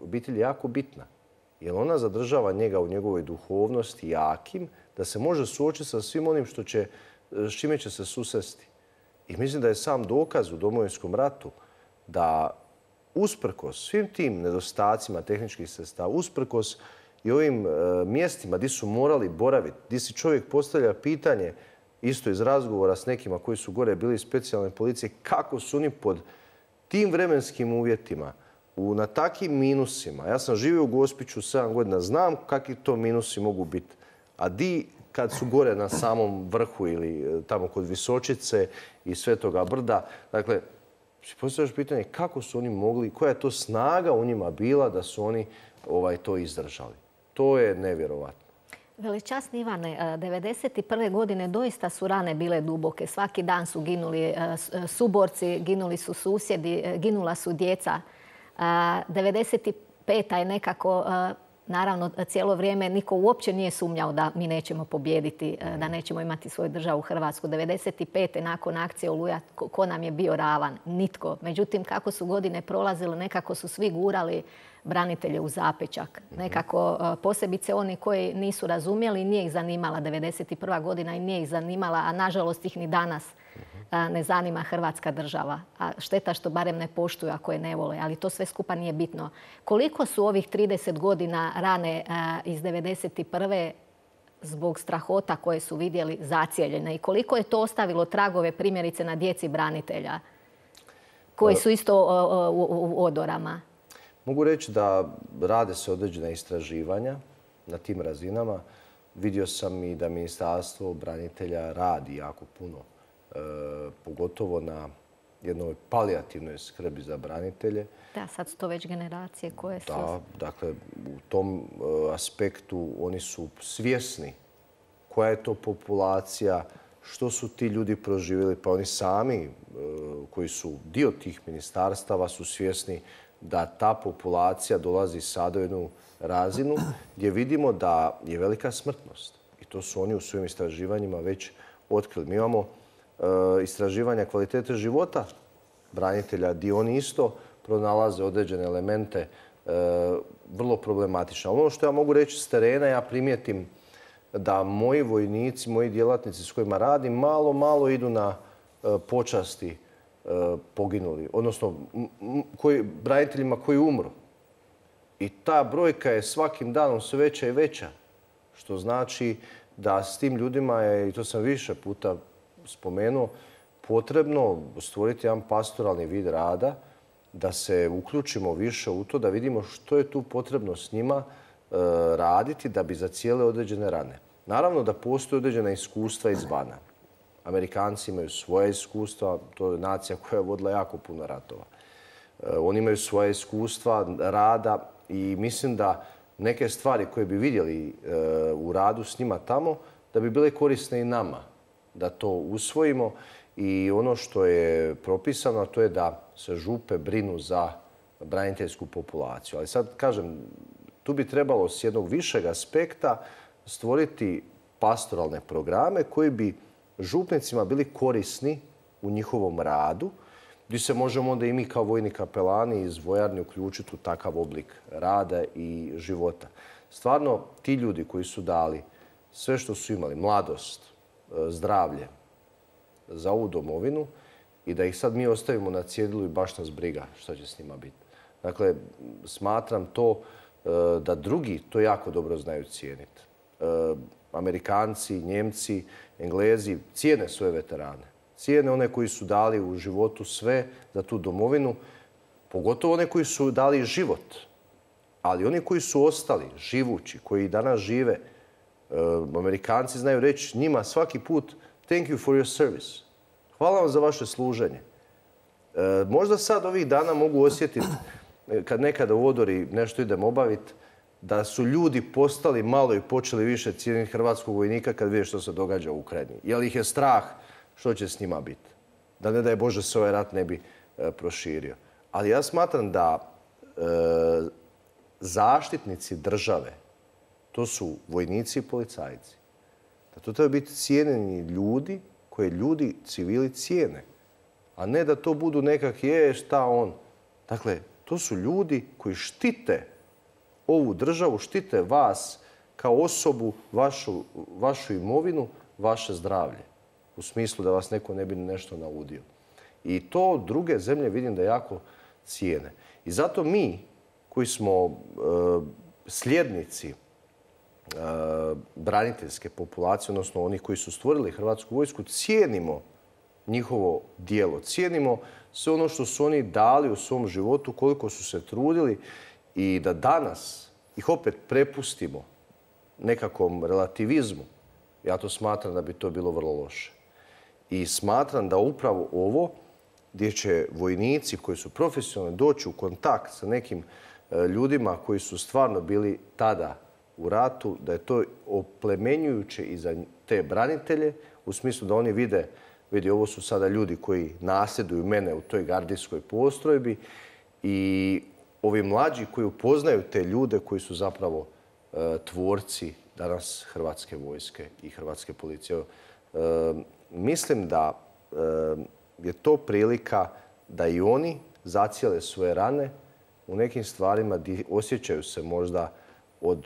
obitelji jako bitna. Jer ona zadržava njega u njegovoj duhovnosti jakim da se može suočiti sa svim onim što će, s čime će se susresti. I mislim da je sam dokaz u Domovinskom ratu da usprkos svim tim nedostacima tehničkih sredstava, usprkos i ovim e, mjestima gdje su morali boraviti, gdje si čovjek postavlja pitanje isto iz razgovora s nekima koji su gore bili iz specijalne policije, kako su oni pod tim vremenskim uvjetima, u, na takvim minusima. Ja sam živio u Gospiću sedam godina, znam kakvi to minusi mogu biti. A di kad su gore na samom vrhu ili tamo kod Visočice i Svetoga brda, dakle, si postavljaš pitanje kako su oni mogli, koja je to snaga u njima bila da su oni ovaj, to izdržali. To je nevjerovatno. Veličasni Ivane, devedeset prve godine doista su rane bile duboke. Svaki dan su ginuli suborci, ginuli su susjedi, ginula su djeca. devedeset peta je nekako, naravno, cijelo vrijeme niko uopće nije sumnjao da mi nećemo pobijediti, da nećemo imati svoju državu Hrvatsku. devedeset pete nakon akcije Oluja, ko nam je bio ravan? Nitko. Međutim, kako su godine prolazile, nekako su svi gurali branitelje u zapećak. Nekako posebice oni koji nisu razumjeli, nije ih zanimala devedeset prva godina i nije ih zanimala, a nažalost ih ni danas ne zanima Hrvatska država. A šteta što barem ne poštuju ako je ne vole, ali to sve skupa nije bitno. Koliko su ovih trideset godina rane iz devedeset prve zbog strahota koje su vidjeli zacijeljene i koliko je to ostavilo tragove primjerice na djeci branitelja koji su isto u odorama? Mogu reći da rade se određena istraživanja na tim razinama. Vidio sam i da Ministarstvo branitelja radi jako puno, e, pogotovo na jednoj palijativnoj skrbi za branitelje. Da, sad su to već generacije koje su... Da, dakle, u tom aspektu oni su svjesni koja je to populacija, što su ti ljudi proživjeli, pa oni sami koji su dio tih ministarstava su svjesni da ta populacija dolazi sada u jednu razinu gdje vidimo da je velika smrtnost. I to su oni u svojim istraživanjima već otkrili. Mi imamo istraživanja kvalitete života branitelja gdje oni isto pronalaze određene elemente vrlo problematične. Ono što ja mogu reći s terena, ja primijetim da moji vojnici, moji djelatnici s kojima radim, malo, malo idu na počasti poginuli, odnosno koji, braniteljima koji umru. I ta brojka je svakim danom sve veća i veća, što znači da s tim ljudima je, i to sam više puta spomenuo, potrebno stvoriti jedan pastoralni vid rada, da se uključimo više u to, da vidimo što je tu potrebno s njima raditi da bi zacijele određene rane. Naravno da postoje određena iskustva izvana. Amerikanci imaju svoje iskustva, to je nacija koja je vodila jako puno ratova. Oni imaju svoje iskustva rada i mislim da neke stvari koje bi vidjeli u radu s njima tamo, da bi bile korisne i nama, da to usvojimo. I ono što je propisano, to je da se župe brinu za braniteljsku populaciju. Ali sad, kažem, tu bi trebalo s jednog višeg aspekta stvoriti pastoralne programe koji bi župnicima bili korisni u njihovom radu, gdje se možemo onda i mi kao vojni kapelani iz vojarni uključiti u takav oblik rada i života. Stvarno, ti ljudi koji su dali sve što su imali, mladost, zdravlje, za ovu domovinu i da ih sad mi ostavimo na cjedilu i baš nas briga što će s njima biti. Dakle, smatram to da drugi to jako dobro znaju cijeniti. Amerikanci, Njemci, Englezi cijene svoje veterane. Cijene one koji su dali u životu sve za tu domovinu, pogotovo one koji su dali život. Ali oni koji su ostali živući, koji danas žive, Amerikanci znaju reći njima svaki put thank you for your service. Hvala vam za vaše služenje. Možda sad ovih dana mogu osjetiti, kad nekada u odori nešto idem obaviti, da su ljudi postali malo i počeli više cijeniti hrvatskog vojnika kad vide što se događa u Ukrajini. Jer ih je strah što će s njima biti. Da ne daj Bože se ovaj rat ne bi proširio. Ali ja smatram da zaštitnici države, to su vojnici i policajci. Da to treba biti cijenjeni ljudi koje ljudi, civili cijene. A ne da to budu nekak je šta on. Dakle, to su ljudi koji štite ovu državu, štite vas kao osobu, vašu, vašu imovinu, vaše zdravlje. U smislu da vas neko ne bi nešto naudio. I to druge zemlje vidim da jako cijene. I zato mi koji smo e, sljednici braniteljske populacije, odnosno oni koji su stvorili Hrvatsku vojsku, cijenimo njihovo djelo. Cijenimo sve ono što su oni dali u svom životu, koliko su se trudili i da danas ih opet prepustimo nekakvom relativizmu. Ja to smatram da bi to bilo vrlo loše. I smatram da upravo ovo gdje će vojnici koji su profesionalni doći u kontakt sa nekim ljudima koji su stvarno bili tada u ratu, da je to oplemenjujuće i za te branitelje, u smislu da oni vide, vidi, ovo su sada ljudi koji nasljeduju mene u toj gardijskoj postrojbi i ovi mlađi koji upoznaju te ljude koji su zapravo e, tvorci danas Hrvatske vojske i Hrvatske policije. E, mislim da e, je to prilika da i oni zacijele svoje rane u nekim stvarima gdje osjećaju se možda od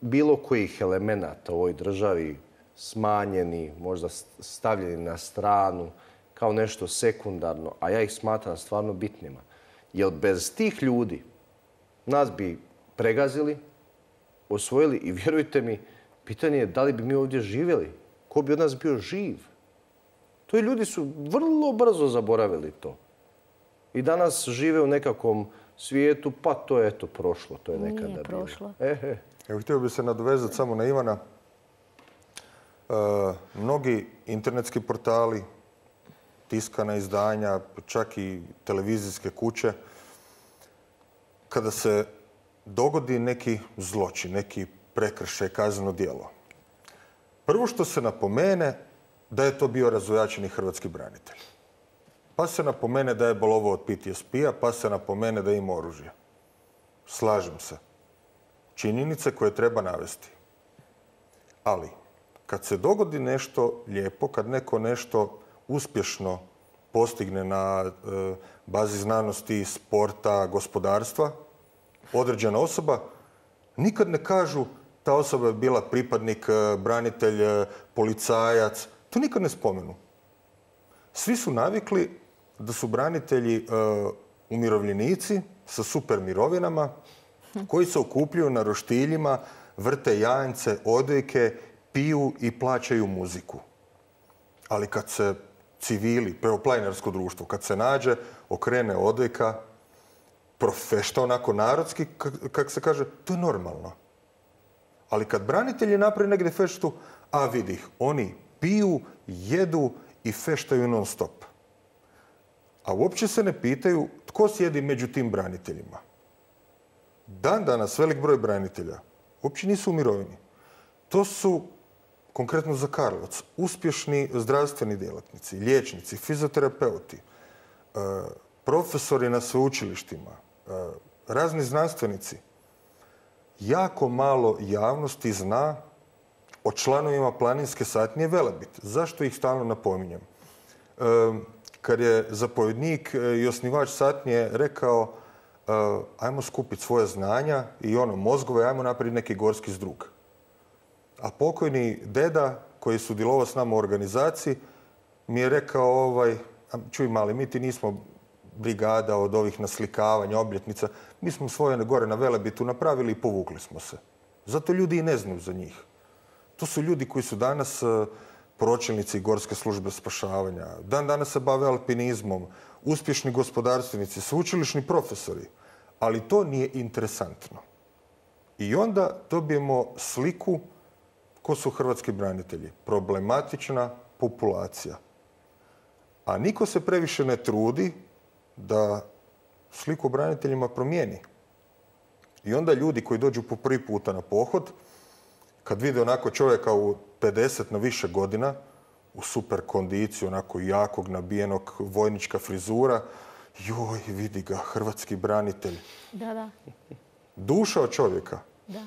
bilo kojih elemenata u ovoj državi smanjeni, možda stavljeni na stranu kao nešto sekundarno, a ja ih smatram stvarno bitnima. Jer bez tih ljudi nas bi pregazili, osvojili i vjerujte mi, pitanje je da li bi mi ovdje živjeli, ko bi od nas bio živ. To i ljudi su vrlo brzo zaboravili to. I danas žive u nekakvom svijetu, pa to je eto prošlo, to je nekada bilo. Nije prošlo. E, e. Evo, htio bih se nadovezati samo na Ivana. E, mnogi internetski portali, tiskana izdanja, čak i televizijske kuće, kada se dogodi neki zločin, neki prekršaj, kazneno djelo, prvo što se napomene da je to bio razvojačeni hrvatski branitelj. Pa se napomene da je bolovao od P T S P-a, pa se napomene da ima oružje. Slažem se. Činjenice koje treba navesti. Ali, kad se dogodi nešto lijepo, kad neko nešto uspješno postigne na e, bazi znanosti, sporta, gospodarstva, određena osoba, nikad ne kažu ta osoba je bila pripadnik, branitelj, policajac. To nikad ne spomenu. Svi su navikli da su branitelji e, umirovljenici sa super mirovinama koji se okupljuju na roštiljima, vrte jance, odojke, piju i plaćaju muziku. Ali kad se civili, evo planinarsko društvo, kad se nađe, okrene odojka, profešta onako narodski, kako se kaže, to je normalno. Ali kad branitelji napravi negdje feštu, a vidi ih, oni piju, jedu i feštaju non stop. A uopće se ne pitaju tko sjedi među tim braniteljima. Dan danas velik broj branitelja uopće nisu u mirovini. To su, konkretno za Karlovac, uspješni zdravstveni djelatnici, liječnici, fizioterapeuti, profesori na sveučilištima, razni znanstvenici. Jako malo javnosti zna o članovima planinske satnije Velebit. Zašto ih stalno napominjem? Kad je zapovjednik i osnivač satnije rekao ajmo skupiti svoje znanja i ono, mozgove, ajmo napraviti neki gorski zdrug. A pokojni deda, koji je sudjelovao s nama u organizaciji, mi je rekao, ovaj, čuj mali, mi ti nismo brigada od ovih naslikavanja, obljetnica. Mi smo svoje gore na Velebitu napravili i povukli smo se. Zato ljudi i ne znaju za njih. To su ljudi koji su danas pročelnici Gorske službe spašavanja. Dan danas se bave alpinizmom, uspješni gospodarstvenici, sveučilišni profesori. Ali to nije interesantno. I onda dobijemo sliku ko su hrvatski branitelji. Problematična populacija. A niko se previše ne trudi da sliku o braniteljima promijeni. I onda ljudi koji dođu po prvi puta na pohod, kad vide onako čovjeka u pedeset na više godina, u super kondiciju, onako jakog, nabijenog, vojnička frizura, joj, vidi ga, hrvatski branitelj. Da, da. Duša od čovjeka. Da.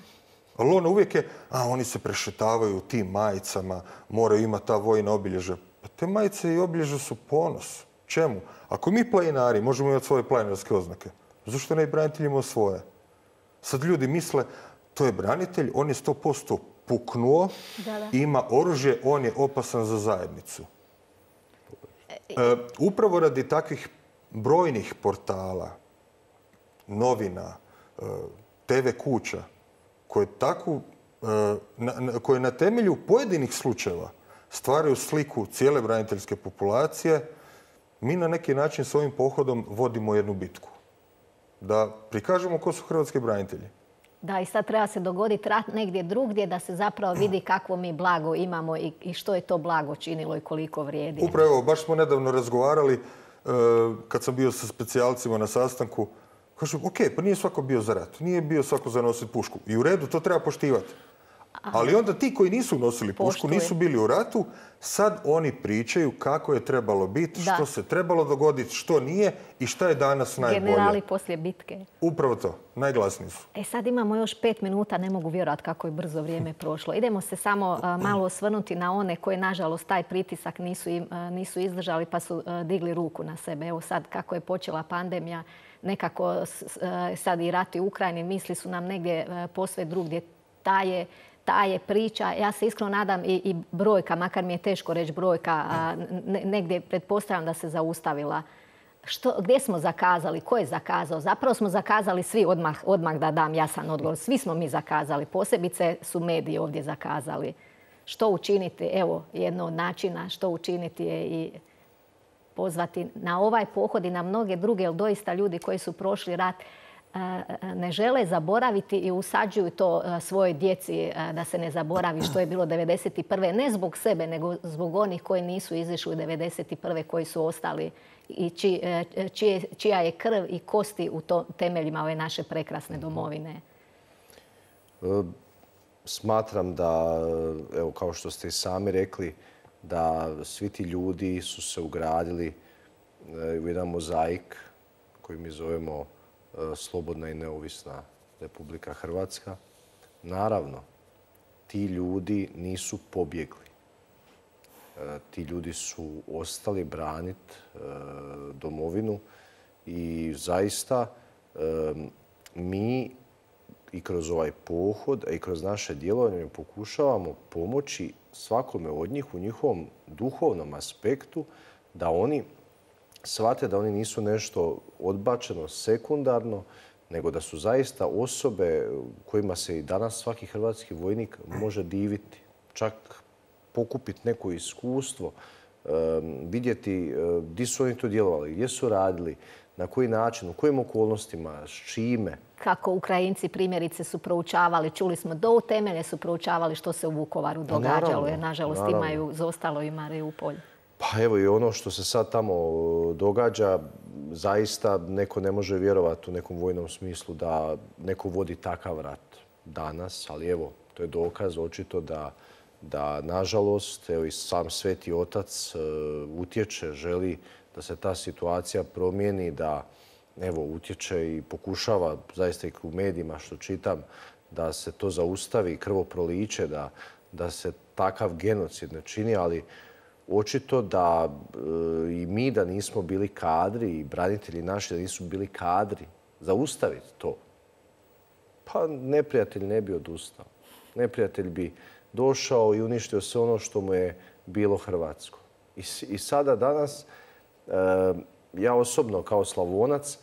Ali ono uvijek je, a oni se prešetavaju u tim majicama, moraju imati ta vojna obilježja. Pa te majice i obilježja su ponos. Čemu? Ako mi planinari možemo imati svoje planinarske oznake, zašto ne i branitelj imao svoje? Sad ljudi misle, to je branitelj, on je sto posto puknuo, da, da. Ima oružje, on je opasan za zajednicu. E, upravo radi takvih brojnih portala, novina, e, te ve kuća, koje, takvu, e, na, koje na temelju pojedinih slučajeva stvaraju sliku cijele braniteljske populacije, mi na neki način s ovim pohodom vodimo jednu bitku. Da prikažemo ko su hrvatski branitelji. Da, i sad treba se dogoditi rat negdje drugdje da se zapravo vidi kakvo mi blago imamo i, i što je to blago činilo i koliko vrijedi. Upravo, baš smo nedavno razgovarali e, kad sam bio sa specijalcima na sastanku. Kažu, ok, pa nije svako bio za rat, nije bio svako za nositi pušku. I u redu, to treba poštivati. Ali onda ti koji nisu nosili pušku, Poštuje. nisu bili u ratu, sad oni pričaju kako je trebalo biti, Da. što se trebalo dogoditi, što nije i šta je danas najbolje. Generali poslije bitke. Upravo to, najglasniji su. E sad imamo još pet minuta, ne mogu vjerovati kako je brzo vrijeme prošlo. Idemo se samo a, malo osvrnuti na one koje, nažalost, taj pritisak nisu, im, a, nisu izdržali pa su a, digli ruku na sebe. Evo sad kako je počela pandemija, nekako s, a, sad i rat u Ukrajini, misli su nam negdje a, posve drugdje taje. Ta je priča, ja se iskreno nadam i, i brojka, makar mi je teško reći brojka, a, ne, negdje pretpostavljam da se zaustavila. Što, gdje smo zakazali? Ko je zakazao? Zapravo smo zakazali svi odmah, odmah da dam jasan odgovor. Svi smo mi zakazali. Posebice su mediji ovdje zakazali. Što učiniti? Evo, jedno od načina što učiniti je i pozvati na ovaj pohod i na mnoge druge, jer doista ljudi koji su prošli rat ne žele zaboraviti i usađuju to svojoj djeci da se ne zaboravi što je bilo devedeset prve. Ne zbog sebe, nego zbog onih koji nisu izišli devedeset prve, koji su ostali i či, čije, čija je krv i kosti u to, temeljima ove naše prekrasne domovine. Smatram da, evo, kao što ste i sami rekli, da svi ti ljudi su se ugradili u jedan mozaik koji mi zovemo Slobodna i neovisna Republika Hrvatska. Naravno, ti ljudi nisu pobjegli. Ti ljudi su ostali braniti domovinu i zaista mi i kroz ovaj pohod, a i kroz naše djelovanje pokušavamo pomoći svakome od njih u njihovom duhovnom aspektu da oni shvate da oni nisu nešto odbačeno, sekundarno, nego da su zaista osobe kojima se i danas svaki hrvatski vojnik može diviti. Čak pokupiti neko iskustvo, vidjeti gdje su oni to djelovali, gdje su radili, na koji način, u kojim okolnostima, s čime. Kako Ukrajinci primjerice su proučavali, čuli smo do utemelje su proučavali što se u Vukovaru događalo, jer nažalost imaju, zostalo i Mariupolj. Pa evo i ono što se sad tamo događa, zaista neko ne može vjerovati u nekom vojnom smislu da neko vodi takav rat danas, ali evo, to je dokaz očito da, da nažalost, evo i sam Sveti Otac utječe, želi da se ta situacija promijeni, da evo, utječe i pokušava, zaista i u medijima što čitam, da se to zaustavi, krvoproliće, da, da se takav genocid ne čini, ali očito da e, i mi da nismo bili kadri i branitelji naši da nisu bili kadri zaustaviti to, pa neprijatelj ne bi odustao. Neprijatelj bi došao i uništio sve ono što mu je bilo hrvatsko. I, i sada danas, e, ja osobno kao Slavonac,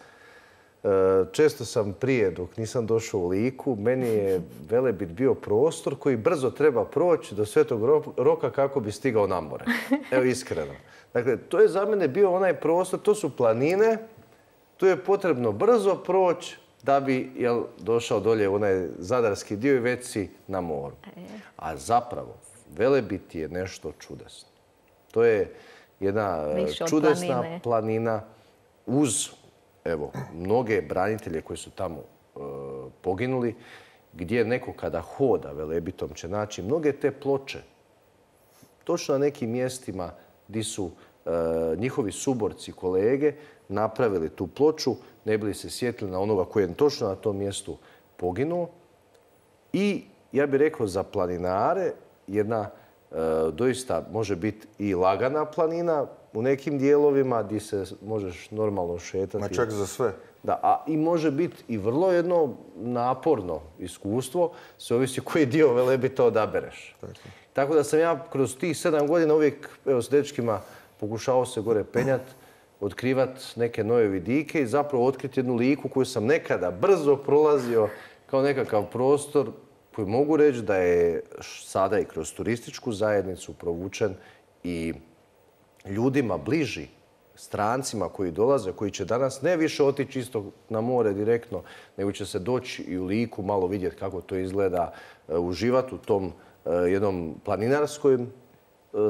često sam prije, dok nisam došao u Liku, meni je Velebit bio prostor koji brzo treba proći do Svetog Roka kako bi stigao na more. Evo, iskreno. Dakle, to je za mene bio onaj prostor, to su planine, tu je potrebno brzo proći da bi jel, došao dolje u onaj zadarski dio i već si na moru. A zapravo, Velebit je nešto čudesno. To je jedna čudesna planine. planina uz evo, mnoge branitelje koji su tamo e, poginuli, gdje neko kada hoda Velebitom će naći mnoge te ploče. Točno na nekim mjestima gdje su e, njihovi suborci, kolege, napravili tu ploču, ne bili se sjetili na onoga koji je točno na tom mjestu poginuo. I ja bih rekao za planinare jedna e, doista može biti i lagana planina, u nekim dijelovima gdje se možeš normalno šetati. Ma čak za sve. Da, a i može biti i vrlo jedno naporno iskustvo, sve ovisi koji dio Velebita odabereš. Tako. Tako da sam ja kroz tih sedam godina uvijek evo, s dečkima pokušao se gore penjati, otkrivati neke nove vidike i zapravo otkriti jednu Liku koju sam nekada brzo prolazio kao nekakav prostor koji mogu reći da je sada i kroz turističku zajednicu provučen i ljudima bliži, strancima koji dolaze, koji će danas ne više otići isto na more direktno, nego će se doći i u Liku malo vidjeti kako to izgleda, uživati u tom jednom planinarskom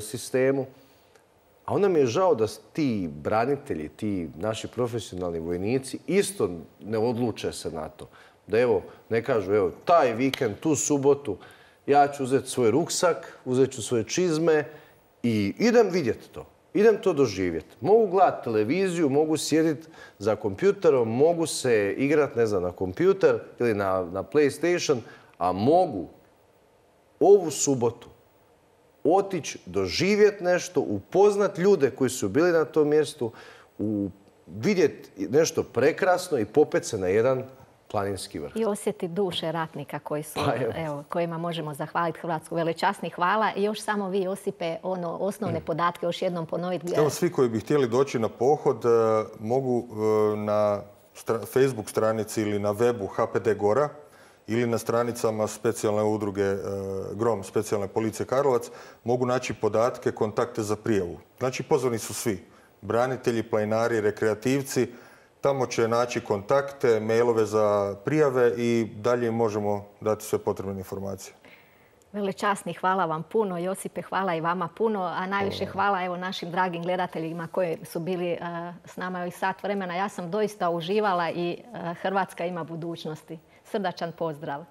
sistemu. A onda mi je žao da ti branitelji, ti naši profesionalni vojnici isto ne odluče se na to. Da evo, ne kažu, evo, taj vikend, tu subotu, ja ću uzeti svoj ruksak, uzet ću svoje čizme i idem vidjeti to. Idem to doživjeti. Mogu gledati televiziju, mogu sjediti za kompjuterom, mogu se igrati, ne znam, na kompjuter ili na, na PlayStation, a mogu ovu subotu otići, doživjeti nešto, upoznat ljude koji su bili na tom mjestu, u, vidjeti nešto prekrasno i popet se na jedan planinski vrh. I osjetiti duše ratnika koji su, pa, evo, kojima možemo zahvaliti Hrvatsku. Velečasni hvala. I još samo vi, Josipe, ono, osnovne podatke još jednom ponoviti. Evo, svi koji bi htjeli doći na pohod mogu na Facebook stranici ili na webu H P D Gora ili na stranicama specijalne udruge Grom, specijalne policije Karlovac, mogu naći podatke, kontakte za prijavu. Znači, pozvani su svi. Branitelji, planinari, rekreativci. Tamo će naći kontakte, mailove za prijave i dalje možemo dati sve potrebne informacije. Velečasni, hvala vam puno. Josipe, hvala i vama puno. A najviše hvala evo našim dragim gledateljima koji su bili uh, s nama ovih sat vremena. Ja sam doista uživala i uh, Hrvatska ima budućnosti. Srdačan pozdrav.